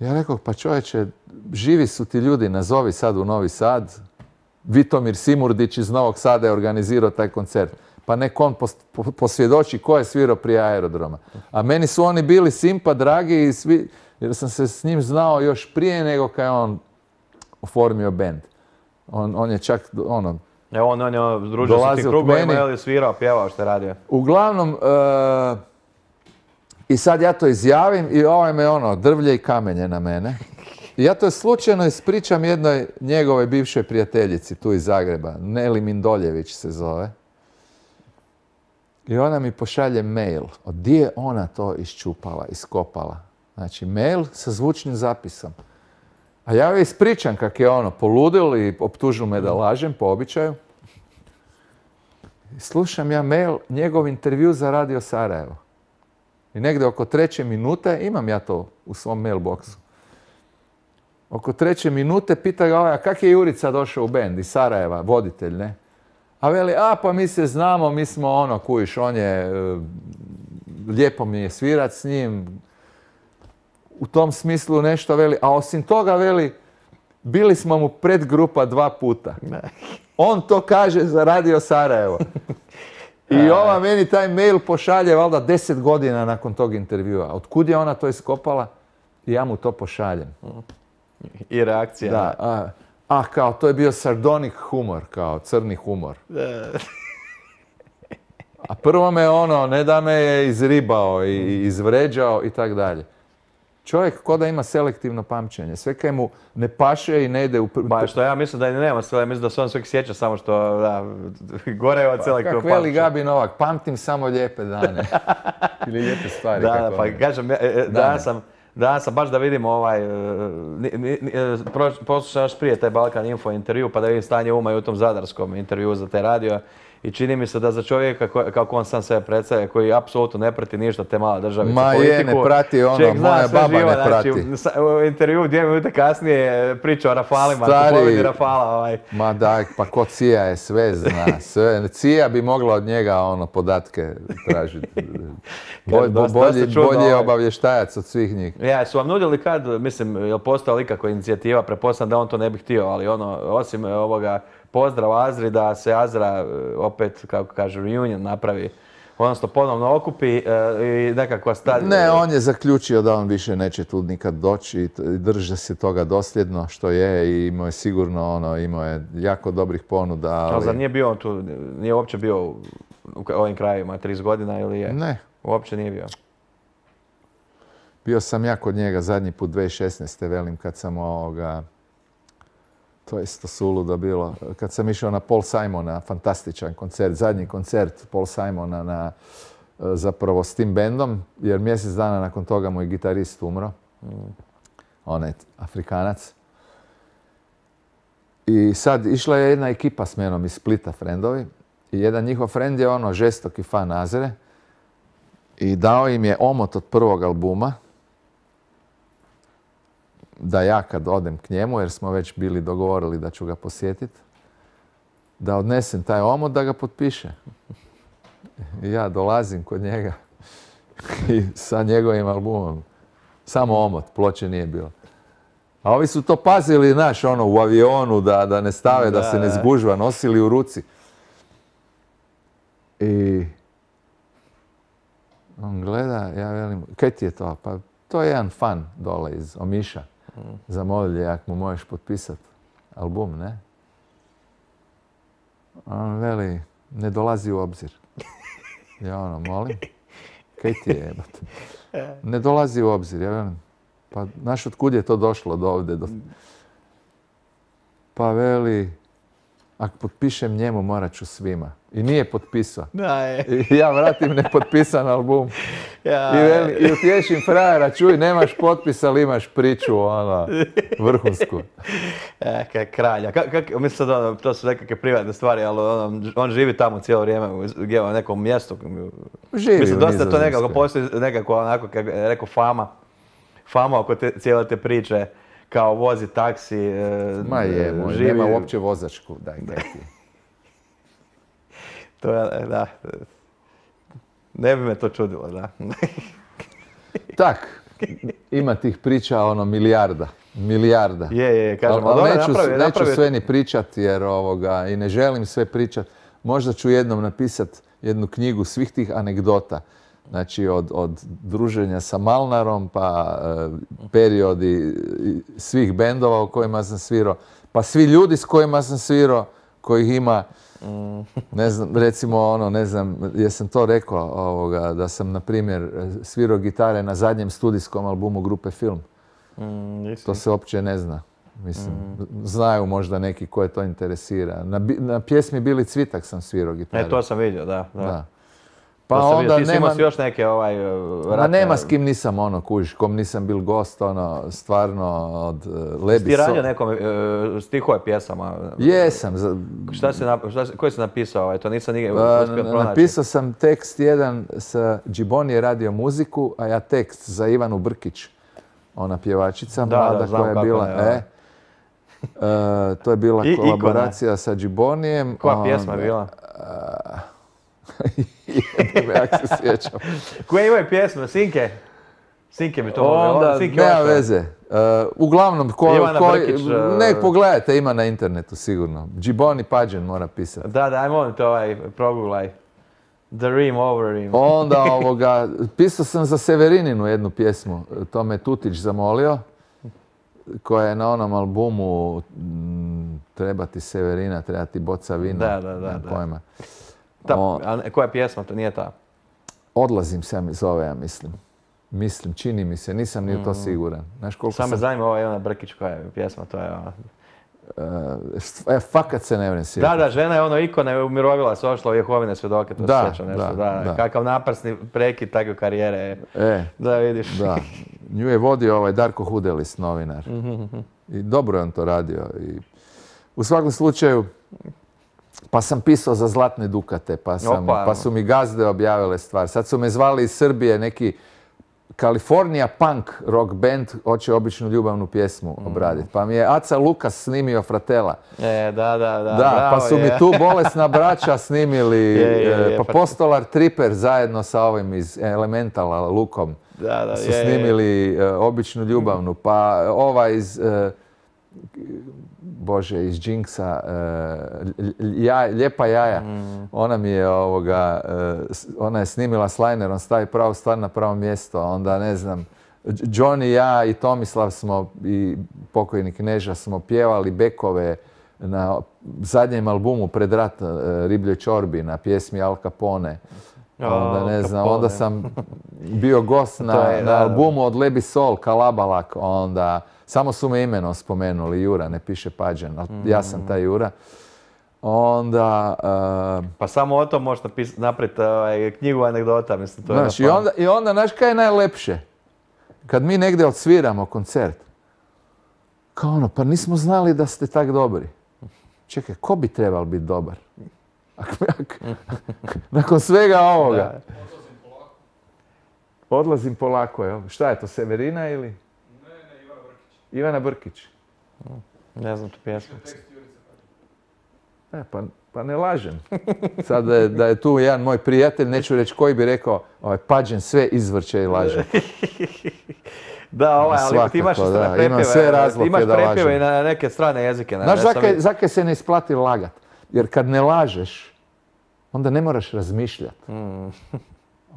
Ja rekao, pa čovječe, živi su ti ljudi, nazovi sad u Novi Sad. Vitomir Simurdić iz Novog Sada je organizirao taj koncert. Pa nek on pos- po- posvjedoči ko je svirao prije aerodroma. A meni su oni bili simpa, dragi i svi, jer sam se s njim znao još prije nego kad je on oformio band. On, on je čak, ono, Evo on, on je ono, družio se Dolazio ti k krugovima, meni. je li svirao, pjevao što je radio. uglavnom, e, i sad ja to izjavim i ovaj me ono, drvlje i kamenje na mene. I ja to slučajno ispričam jednoj njegovoj bivšoj prijateljici tu iz Zagreba, Neli Mindoljević se zove. I ona mi pošalje mail. Od gdje je ona to iščupala, iskopala? Znači, mail sa zvučnim zapisom. A ja joj ispričam kak je ono poludil i optužil me da lažem po običaju. I slušam ja mail, njegov intervju za Radio Sarajevo. I negdje oko treće minute, imam ja to u svom mailboxu. Oko treće minute pita ga ovaj, a kak je Jurica došao u bend iz Sarajeva, voditelj, ne? A veli, a pa mi se znamo, mi smo ono, kujiš, on je, e, lijepo mi je svirat s njim, u tom smislu nešto veli, a osim toga veli, bili smo mu predgrupa dva puta. On to kaže za Radio Sarajevo. I ova meni taj mail pošalje valjda deset godina nakon tog intervjua. Otkud je ona to iskopala? I ja mu to pošaljem. I reakcija. Da, a, a kao to je bio sardonic humor, kao crni humor. A prvo me ono, ne da me je izribao i izvređao i tak dalje. Čovjek ko da ima selektivno pamćenje. Sve kaj mu ne paše i ne ide u... pr- Ba što ja mislim da i nema sve, ja mislim da se on sve sjeća samo što, da, gore je od selektivnog Kak veli pamćenja. Gabi Novak, pamtim samo lijepe dane. Ili lijepe stvari. Da, kako da, pa oni. kažem, ja, e, e, Dane. danas sam, danas sam baš da vidim ovaj, e, ni- ni- ni- e, proš- poslušao još prije taj Balkan Info intervju, pa da vidim stanje uma i u tom zadarskom intervju za taj radio. I čini mi se da za čovjeka ko- kako on sam sebe predstavlja, koji apsolutno ne prati ništa te male državice, Ma je, politiku, ne prati ono, čovjek zna moja sve baba živo, ne znači, prati. sa- u intervju dvije minute kasnije priča o Rafalima, Stari- kupovini Rafala. Ovaj. Ma daj, pa ko Cija je sve zna, sve. Cija bi mogla od njega ono podatke tražiti. Bolj, dosta- bolji, dosta čudno, bolji je ovaj. obavještajac od svih njih. Ja, su vam nudili kad, mislim, je li postojala ikakva inicijativa, pretpostavljam da on to ne bi htio, ali ono, osim e, ovoga pozdrav Azri, da se Azra e, opet, kako kaže, reunion napravi, odnosno ponovno okupi e, i nekakva sta... Ne, on je zaključio da on više neće tu nikad doći i t- i drže se toga dosljedno što je i imao je sigurno ono, imao je jako dobrih ponuda, Ali zar ali... nije bio on tu, nije uopće bio u u ovim krajevima trideset godina ili je? Ne, Uopće nije bio. bio sam ja kod njega zadnji put dvije tisuće šesnaeste. velim kad sam ovoga... To je isto suludo bilo. Kad sam išao na Paul Simona, fantastičan koncert, zadnji koncert Paul Simona na, zapravo s tim bendom, jer mjesec dana nakon toga moj gitarist umro. Onaj Afrikanac. I sad išla je jedna ekipa s menom iz Splita, frendovi. I jedan njihov frend je ono žestoki fan Azre. I dao im je omot od prvog albuma. Da ja kad odem k njemu, jer smo već bili dogovorili da ću ga posjetiti, da odnesem taj omot da ga potpiše. I ja dolazim kod njega i sa njegovim albumom. Samo omot, ploče nije bilo. A ovi su to pazili, znaš, ono, u avionu, da, da ne stave, da, Da, se ne da. zgužva, nosili u ruci. I on gleda, ja velim, kaj ti je to? Pa to je jedan fan dole iz Omiša. Zamolili je, ako mu možeš potpisati album, ne? A on veli, ne dolazi u obzir. Ja ono, molim, kaj ti je jebate? Ne dolazi u obzir, ja velim, pa znaš otkud je to došlo do ovdje? Do... Pa veli, ako potpišem njemu, morat ću svima. I nije potpisao. Da, je. I ja vratim nepotpisan album. Ja, I, veli, i utješim frajera, čuj, nemaš potpis, ali imaš priču, ono, vrhunsku. E, kaj kralja. Kak, kak, mislim da ono, to su nekakve privatne stvari, ali ono, on živi tamo cijelo vrijeme u, u nekom mjestu. Živi mislim, u dosta to nekako Nizozemskoj. postoji nekako onako, kako je rekao, fama. Fama oko te, cijele te priče, kao vozi taksi, e, Ma je, moj, živi. nema uopće vozačku, daj, daj ti. To je, da. Ne bi me to čudilo, da. Tak, ima tih priča, ono, milijarda. Milijarda. Je, je, kažem, ali dobro, neću, napravi- neću napravi- sve ni pričat jer ovoga, i ne želim sve pričat. Možda ću jednom napisat jednu knjigu svih tih anegdota. Znači od, od druženja sa Malnarom, pa e, periodi i svih bendova u kojima sam svirao, pa svi ljudi s kojima sam svirao, kojih ima, ne znam, recimo ono, ne znam, jesam to rekao, ovoga, da sam, na primjer, svirao gitare na zadnjem studijskom albumu grupe Film. Mm, To se uopće ne zna. Mislim, znaju možda neki koje to interesira. Na, bi- na pjesmi Bili Cvitak sam svirao gitaru. E, to sam vidio, da. da. Da. Pa Pa onda onda ti si nema, imao još neke ovaj... ma ratne- nema s kim nisam ono, kužiš, kom nisam bil gost, ono, stvarno od uh, Lebi Ti radio So- nekom e, stihove pjesama? Jesam. za- Šta si, nap- šta si, koji si napisao? Ovaj? To nisam nigdje Pa, uspio n- pronaći. napisao sam tekst jedan sa Džiboni je radio muziku, a ja tekst za Ivanu Brkić. Ona pjevačica Da, mlada da, znam koja je kako bila. ne, ovaj. e, e, to je bila I- ikona. kolaboracija sa Džibonijem. Koja pjesma je onda- bila? Jebe, jak se sjećam. Koje imaju pjesme? Sinke? Sinke bi to mogli. Onda, Sinke nema Oštra. veze. E, uglavnom, ko, Ivana ko, Brkić, e, nek pogledajte, ima na internetu sigurno. Džiboni Pađen mora pisati. Da, da, aj molim te ovaj, proguglaj. The Rim Over Rim. Onda ovoga, pisao sam za Severininu jednu pjesmu, to me Tutić zamolio, koja je na onom albumu mm, Treba ti Severina, treba ti boca vina. Da, da, da, nemam da. pojma. Ta, O, a ne- koja pjesma? To nije ta. Odlazim se mi zove, ja mislim. Mislim, čini mi se, nisam ni u to siguran. Znaš koliko Samo me sam... zanima ova Ivana Brkić koja je pjesma, to je ona. E, e, fakat se ne vrem sjetiti. Da, da, žena je ono ikona, je umirovila se, ošla u Jehovine svjedoke, to Da, se sjećam nešto. da, Da, da. Kakav naprsni prekid takve karijere. E, Da, vidiš. da. Nju je vodio ovaj Darko Hudelis, novinar. I dobro je on to radio. I u svakom slučaju, pa sam pisao za Zlatne Dukate, pa, sam, Opa. pa su mi gazde objavile stvar. Sad su me zvali iz Srbije neki California punk rock band, hoće običnu ljubavnu pjesmu obraditi. Pa mi je Aca Lukas snimio Fratela. E, da, da, da. Da, bravo pa su je. mi tu Bolesna braća snimili, Je, je, je, e, pa pa- Postolar Tripper zajedno sa ovim iz Elementala, Lukom. Da, da, su je, je. snimili e, običnu ljubavnu, pa ova iz, e, bože, iz Jinxa, e, lj- ja, Lijepa jaja, ona mi je ovoga, e, s- ona je snimila s linerom, stavi pravu stvar na pravo mjesto, onda ne znam, Dž- Johnny, ja i Tomislav smo, i pokojni Kneža smo pjevali bekove na zadnjem albumu pred rat, e, Ribljoj čorbi, na pjesmi Al Capone. Onda ne Al znam, Capone. onda sam bio gost na, To je, na da, da. albumu od Lebi Sol, Kalabalak, onda samo su me imenom spomenuli, Jura, ne piše Pađen, ali ja sam taj Jura. Onda, uh, Pa samo o tom možeš napis- napraviti ovaj, knjigu anegdota, mislim, to je znaš, i ono onda, i onda, znaš kaj je najlepše? Kad mi negdje odsviramo koncert, kao ono, pa nismo znali da ste tak dobri. Čekaj, ko bi trebal biti dobar? Ak- ak- Nakon svega ovoga. Da. Odlazim polako, jel? Šta je to, Severina ili? Ne, ne, Ivana Brkić. Ivana Brkić. Ne znam tu pjesmu. E, pa, pa ne lažem. Sad da je, da je tu jedan moj prijatelj, neću reći koji bi rekao, ovaj, Pađen sve izvrće i laže. Da, ovaj, ali ti imaš Svakako, isto da. na prepjeve, Imam sve razloge ti imaš da prepjeve lažem. i na neke strane jezike. Na, Znaš, ja sam zakaj, vidio. zakaj se ne isplati lagat? Jer kad ne lažeš, onda ne moraš razmišljati. Mm.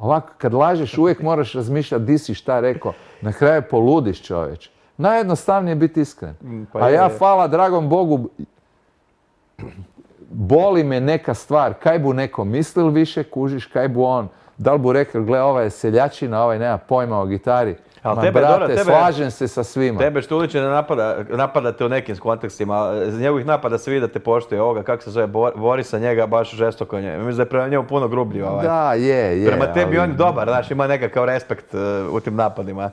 Ovako, kad lažeš, uvijek moraš razmišljati di si šta rekao. Na kraju poludiš, čovječ. Najjednostavnije je biti iskren. pa A je, ja, je. hvala dragom Bogu, boli me neka stvar. Kaj bu neko mislil više, kužiš, kaj bu on. Da li bu rekao, gle, ova je seljačina, ovaj nema pojma o gitari. Ali Ma tebe, brate, dobro, tebe, slažem se sa svima. Tebe Štulića ne napada, napadate u nekim kontekstima, iz njegovih napada se vidi da te poštuje ovoga, kako se zove, Bor- Borisa njega baš žestoko njega. Mislim da je prema njemu puno grublji ovaj. Da, je, je. Prema tebi ali- on je dobar, znaš, ima nekakav respekt uh, u tim napadima.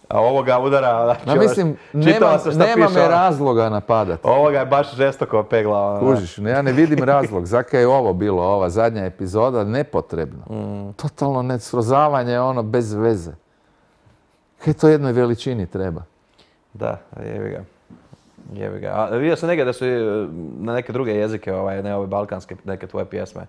A ovoga udara, znači, Ma mislim, ono, čitala nema, sam šta nema piše, me ono, razloga napadati. Ovoga je baš žestoko peglao. ono. Kužiš, ja ne vidim razlog. Zakaj je ovo bilo, ova zadnja epizoda, nepotrebno. Mm. Totalno nesrozavanje, ono, bez veze. Kaj to jednoj veličini treba? Da, jebi ga. Jebi ga. A vidio sam negdje da su i, uh, na neke druge jezike, ovaj, ne ove balkanske, neke tvoje pjesme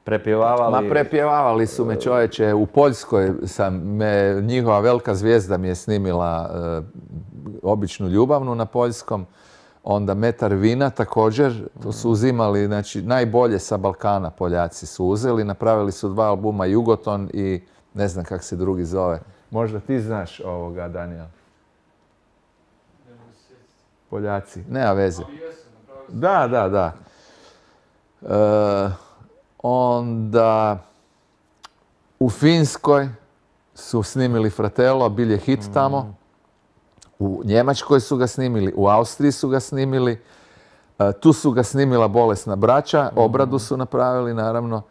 prepjevavali. Ma prepjevavali su me čovječe, u Poljskoj sam, me, njihova velika zvijezda mi je snimila e, običnu ljubavnu na poljskom, onda Metar vina također, to su uzimali, znači najbolje sa Balkana Poljaci su uzeli, napravili su dva albuma Jugoton i ne znam kak se drugi zove. Možda ti znaš ovoga, Daniel? Poljaci, nema veze. Da, da, da. E, onda u Finskoj su snimili Fratello, bil je hit tamo. U Njemačkoj su ga snimili, u Austriji su ga snimili. E, tu su ga snimila Bolesna braća, obradu su napravili naravno.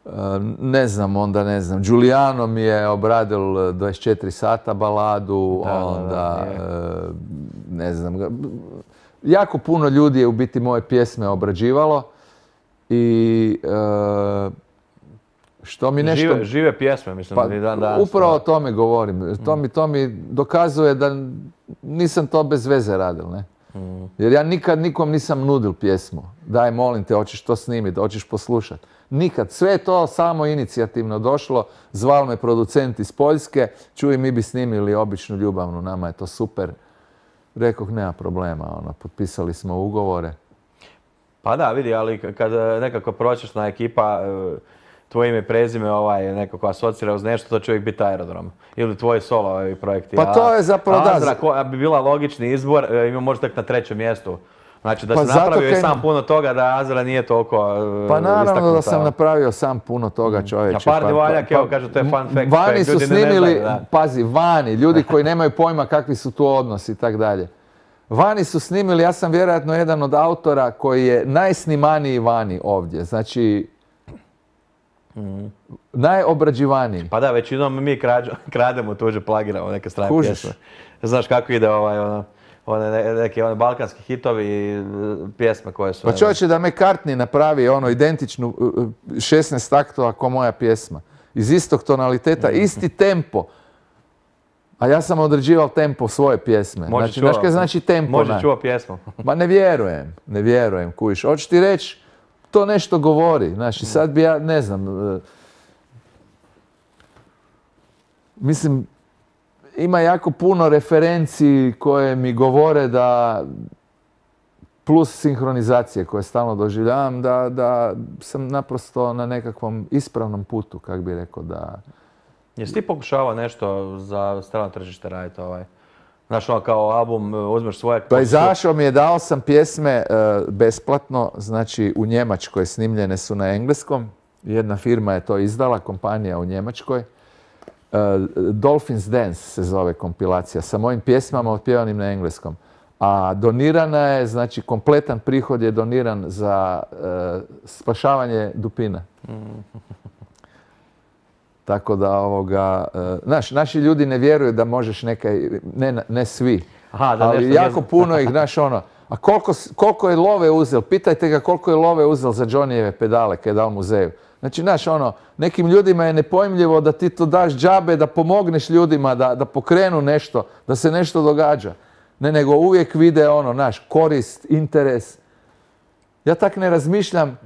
E, ne znam, onda ne znam. Giuliano mi je obradil dvadeset četiri sata baladu, Da, da, da, onda je. e, ne znam. ga- Jako puno ljudi je u biti moje pjesme obrađivalo i e, što mi nešto... Žive, žive pjesme, mislim, Pa, i dan danas. upravo o da. tome govorim. To mi, to mi dokazuje da nisam to bez veze radil, ne? Jer ja nikad nikom nisam nudil pjesmu. Daj, molim te, hoćeš to snimiti, hoćeš poslušati. Nikad. Sve je to samo inicijativno došlo. Zval me producent iz Poljske. Čuj, mi bi snimili običnu ljubavnu, nama je to super. Rekoh, nema problema, ono, potpisali smo ugovore. Pa da, vidi, ali k- kad e, nekako pročešna ekipa, e, tvoje ime i prezime ovaj, nekako asocira uz nešto, to će uvijek biti Aerodrom. Ili tvoji solo ovi projekti. Pa to je zapravo da. Azra ko- bi bila logični izbor, e, ima možda tek na trećem mjestu. Znači da Pa si zato napravio i kaj- sam puno toga da Azra nije toliko e, Pa naravno da istaknuta. sam napravio sam puno toga, čovječe. A par Pa- divaljak, pa- evo, kažu, to je fun fact, Vani koji su ljudi ni ne snimili, znaju, da. pazi, vani, ljudi koji nemaju pojma kakvi su tu odnosi i tak dalje. Vani su snimili, ja sam vjerojatno jedan od autora koji je najsnimaniji vani ovdje. Znači, najobrađivaniji. Pa da, većinom mi krađo, krademo tuđe, plagiramo neke strane Kužiš. pjesme. Znaš kako ide ovaj, ono, one, ne- neki one balkanski hitovi i e, pjesme koje su... Pa čovječe da McCartney napravi ono identičnu uh, uh, šesnaest taktova ko moja pjesma. Iz istog tonaliteta, isti tempo. A ja sam određivao tempo svoje pjesme. Može Znači, čuo- znaš kaj znači tempo? Može ne? čuo pjesmu. Ma ne vjerujem, ne vjerujem, kujiš. Hoću ti reći, to nešto govori. Znači, sad bi ja, ne znam, e, mislim, ima jako puno referenci koje mi govore da, plus sinhronizacije koje stalno doživljavam, da, da sam naprosto na nekakvom ispravnom putu, kak bi rekao, da... Jesi ti pokušavao nešto za strano tržište raditi ovaj? Znaš, ono kao album, uzmeš svoje... Pa izašao mi je, dao sam pjesme e, besplatno, znači u Njemačkoj snimljene su na engleskom. Jedna firma je to izdala, kompanija u Njemačkoj. E, Dolphins Dance se zove kompilacija, sa mojim pjesmama otpjevanim na engleskom. A donirana je, znači kompletan prihod je doniran za e, spašavanje dupina. Tako da, ovoga, e, znaš, naši ljudi ne vjeruju da možeš nekaj, ne, ne svi, Aha, da ali nešto jako nije- puno ih, znaš, ono, a koliko, s- koliko je love uzel, pitajte ga koliko je love uzel za Johnnyjeve pedale kad je dao muzeju. Znači, znaš, ono, nekim ljudima je nepojmljivo da ti to daš džabe, da pomogneš ljudima, da, da pokrenu nešto, da se nešto događa. Ne, nego uvijek vide ono, znaš, korist, interes. Ja tak ne razmišljam.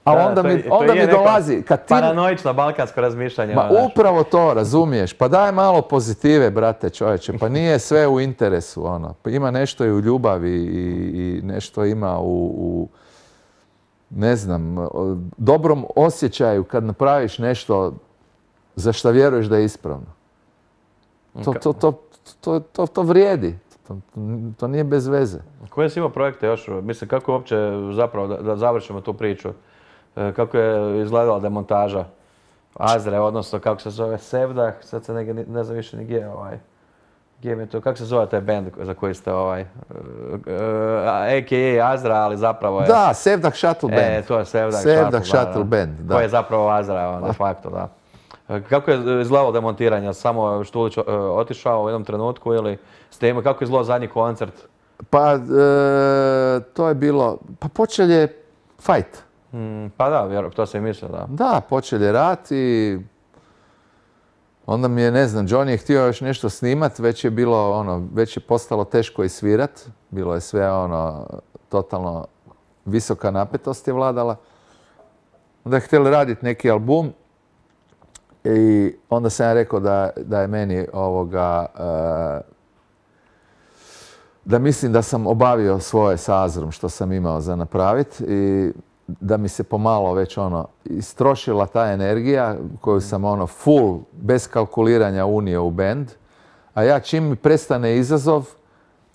A Da, onda to mi, je- to onda je mi neko dolazi, kad ti... Paranoično balkansko razmišljanje. Ma ono, znaš. upravo to, razumiješ. Pa daj malo pozitive, brate, čovječe. Pa nije sve u interesu, ono. Pa ima nešto i u ljubavi i, i nešto ima u, u, ne znam, o- dobrom osjećaju kad napraviš nešto za što vjeruješ da je ispravno. To, to, to, to, to, to vrijedi. To, to nije bez veze. Koje si imao projekte još? Mislim, kako je uopće, zapravo, da, da završimo tu priču, e, kako je izgledala demontaža Azre, odnosno kako se zove Sevdah, sad se ne, ne znam više ni gdje ovaj. Gdje mi je to, kako se zove taj band za koji ste ovaj, uh, uh, a ka a Azra, ali zapravo je... Da, Sevdah Shuttle Band. E, to je Sevdah, Sevdah Shuttle, Shuttle da, Band, da. Koji je zapravo Azra, on, de facto, da. Kako je izgledalo demontiranje? Samo Štulić uh, otišao u jednom trenutku ili ste imali, kako je izgledao zadnji koncert? Pa, e, to je bilo, pa počel je fight. Mm, pa da, vjerujem, to sam i mislio, da. Da, počel je rat i onda mi je, ne znam, Johnny je htio još nešto snimat, već je bilo ono, već je postalo teško i svirat. Bilo je sve ono, totalno visoka napetost je vladala. Onda je htjeli raditi neki album i onda sam ja rekao da, da je meni ovoga, uh, da mislim da sam obavio svoje sa Azrom što sam imao za napraviti i da mi se pomalo već ono istrošila ta energija koju sam ono full, bez kalkuliranja unio u band, a ja čim mi prestane izazov,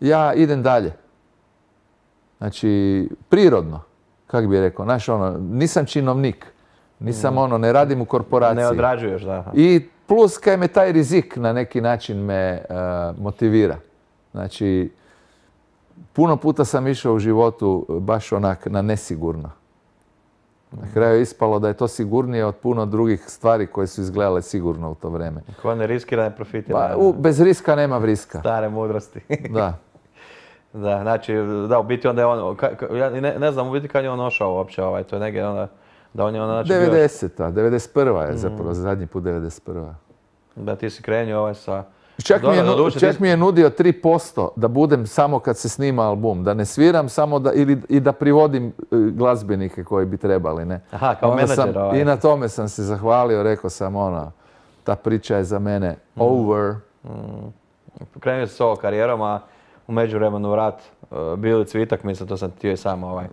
ja idem dalje. Znači, prirodno, kak bi rekao, znaš ono, nisam činovnik, nisam ono, ne radim u korporaciji. Ne odrađuješ, da. I plus kaj me taj rizik na neki način me uh, motivira. Znači, puno puta sam išao u životu baš onak na nesigurno. Na kraju je ispalo da je to sigurnije od puno drugih stvari koje su izgledale sigurno u to vrijeme. Ko ne riskira, ne profitira. Pa, u, bez riska nema vriska. Stare mudrosti. Da. Da, znači, da, u biti onda je on, ka, ka, ja ne, ne znam u biti kad je on ošao uopće, ovaj, to je negdje onda, da on je onda, znači, devedeseta, devedeset prva je zapravo, mm. zadnji put devedeset prva. Da, ti si krenio ovaj sa... Čak, Dobre, mi, je, duše, čak ti... mi je nudio tri posto da budem samo kad se snima album, da ne sviram samo da, ili, i da privodim glazbenike koji bi trebali, ne. Aha, kao Onda menadžer sam, ovaj. I na tome sam se zahvalio, rekao sam ono, ta priča je za mene mm. over. Mm. Krenio si s ovom karijerom, a u međuvremenu rat, uh, Bili Cvitak, mislim, to sam htio i sam ovaj,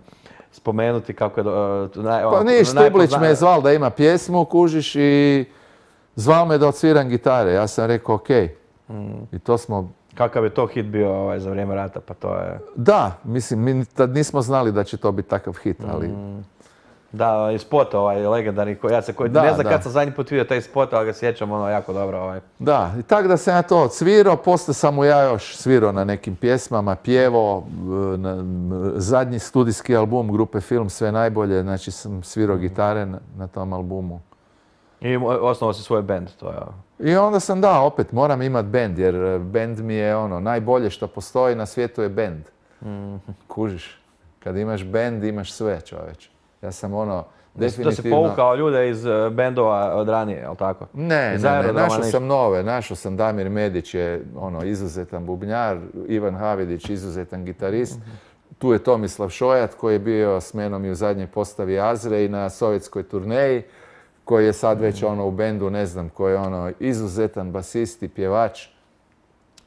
spomenuti kako je... Uh, naj, pa nije, Štublić me je zval da ima pjesmu, kužiš, i zvao me da odsviram gitare. Ja sam rekao okej. Mm. I to smo... Kakav je to hit bio ovaj, za vrijeme rata, pa to je... Da, mislim, mi tad nismo znali da će to biti takav hit, ali... Mm. Da, i spot ovaj legendarni, koji ja se koji, da, ne znam da. kad sam zadnji put vidio taj spot, ali ga sjećam ono jako dobro. Ovaj. Da, i tako da sam ja to odsvirao, poslije sam mu ja još svirao na nekim pjesmama, pjevo, na, zadnji studijski album grupe Film Sve najbolje, znači sam svirao gitare na, na tom albumu. I osnovao si svoj band, to je... I onda sam da, opet moram imat band, jer band mi je ono, najbolje što postoji na svijetu je band. Mm. Kužiš, kad imaš band imaš sve, čovječe. Ja sam ono, definitivno... Da si povukao ljude iz bendova od ranije, jel' tako? Ne, ne, ne, našao sam nove, našao sam Damir Medić je ono, izuzetan bubnjar, Ivan Havidić izuzetan gitarist. Mm-hmm. Tu je Tomislav Šojat koji je bio s menom i u zadnjoj postavi Azre i na sovjetskoj turneji, koji je sad već ono u bendu, ne znam, koji je ono izuzetan basist i pjevač.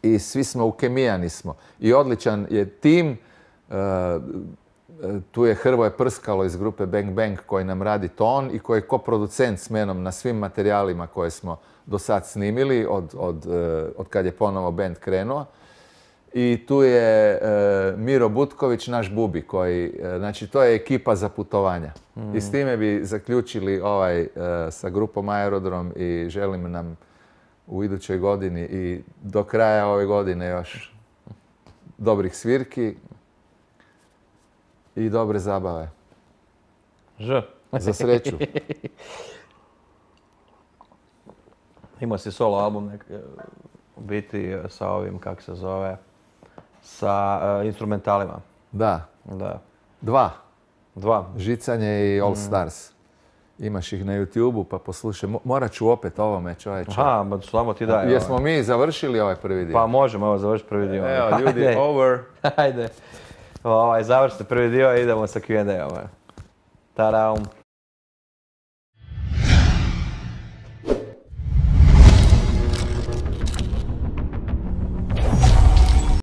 I svi smo ukemijani smo. I odličan je tim. Uh, tu je Hrvoje Prskalo iz grupe Bang Bang koji nam radi ton i koji je koproducent s menom na svim materijalima koje smo do sad snimili od, od, od kad je ponovo band krenuo. I tu je e, Miro Butković, naš bubi, koji, e, znači to je ekipa za putovanja. Mm. I s time bi zaključili ovaj, e, sa grupom Aerodrom i želim nam u idućoj godini i do kraja ove godine još dobrih svirki i dobre zabave. Ž. Za sreću. Imao si solo album nek, u biti sa ovim, kako se zove, sa uh, instrumentalima. Da. Da. Dva. Dva. Žicanje i All Stars. Imaš ih na YouTubeu pa poslušaj. Morat ću opet ovome, čovječe. Aha, samo ti daj. Jesmo ovaj. mi završili ovaj prvi dio? Pa možemo, evo završiti prvi dio. Evo, ljudi, Ajde. over. Ajde. Ovaj, završite prvi dio i idemo sa Q and A. Ovaj. Tadam.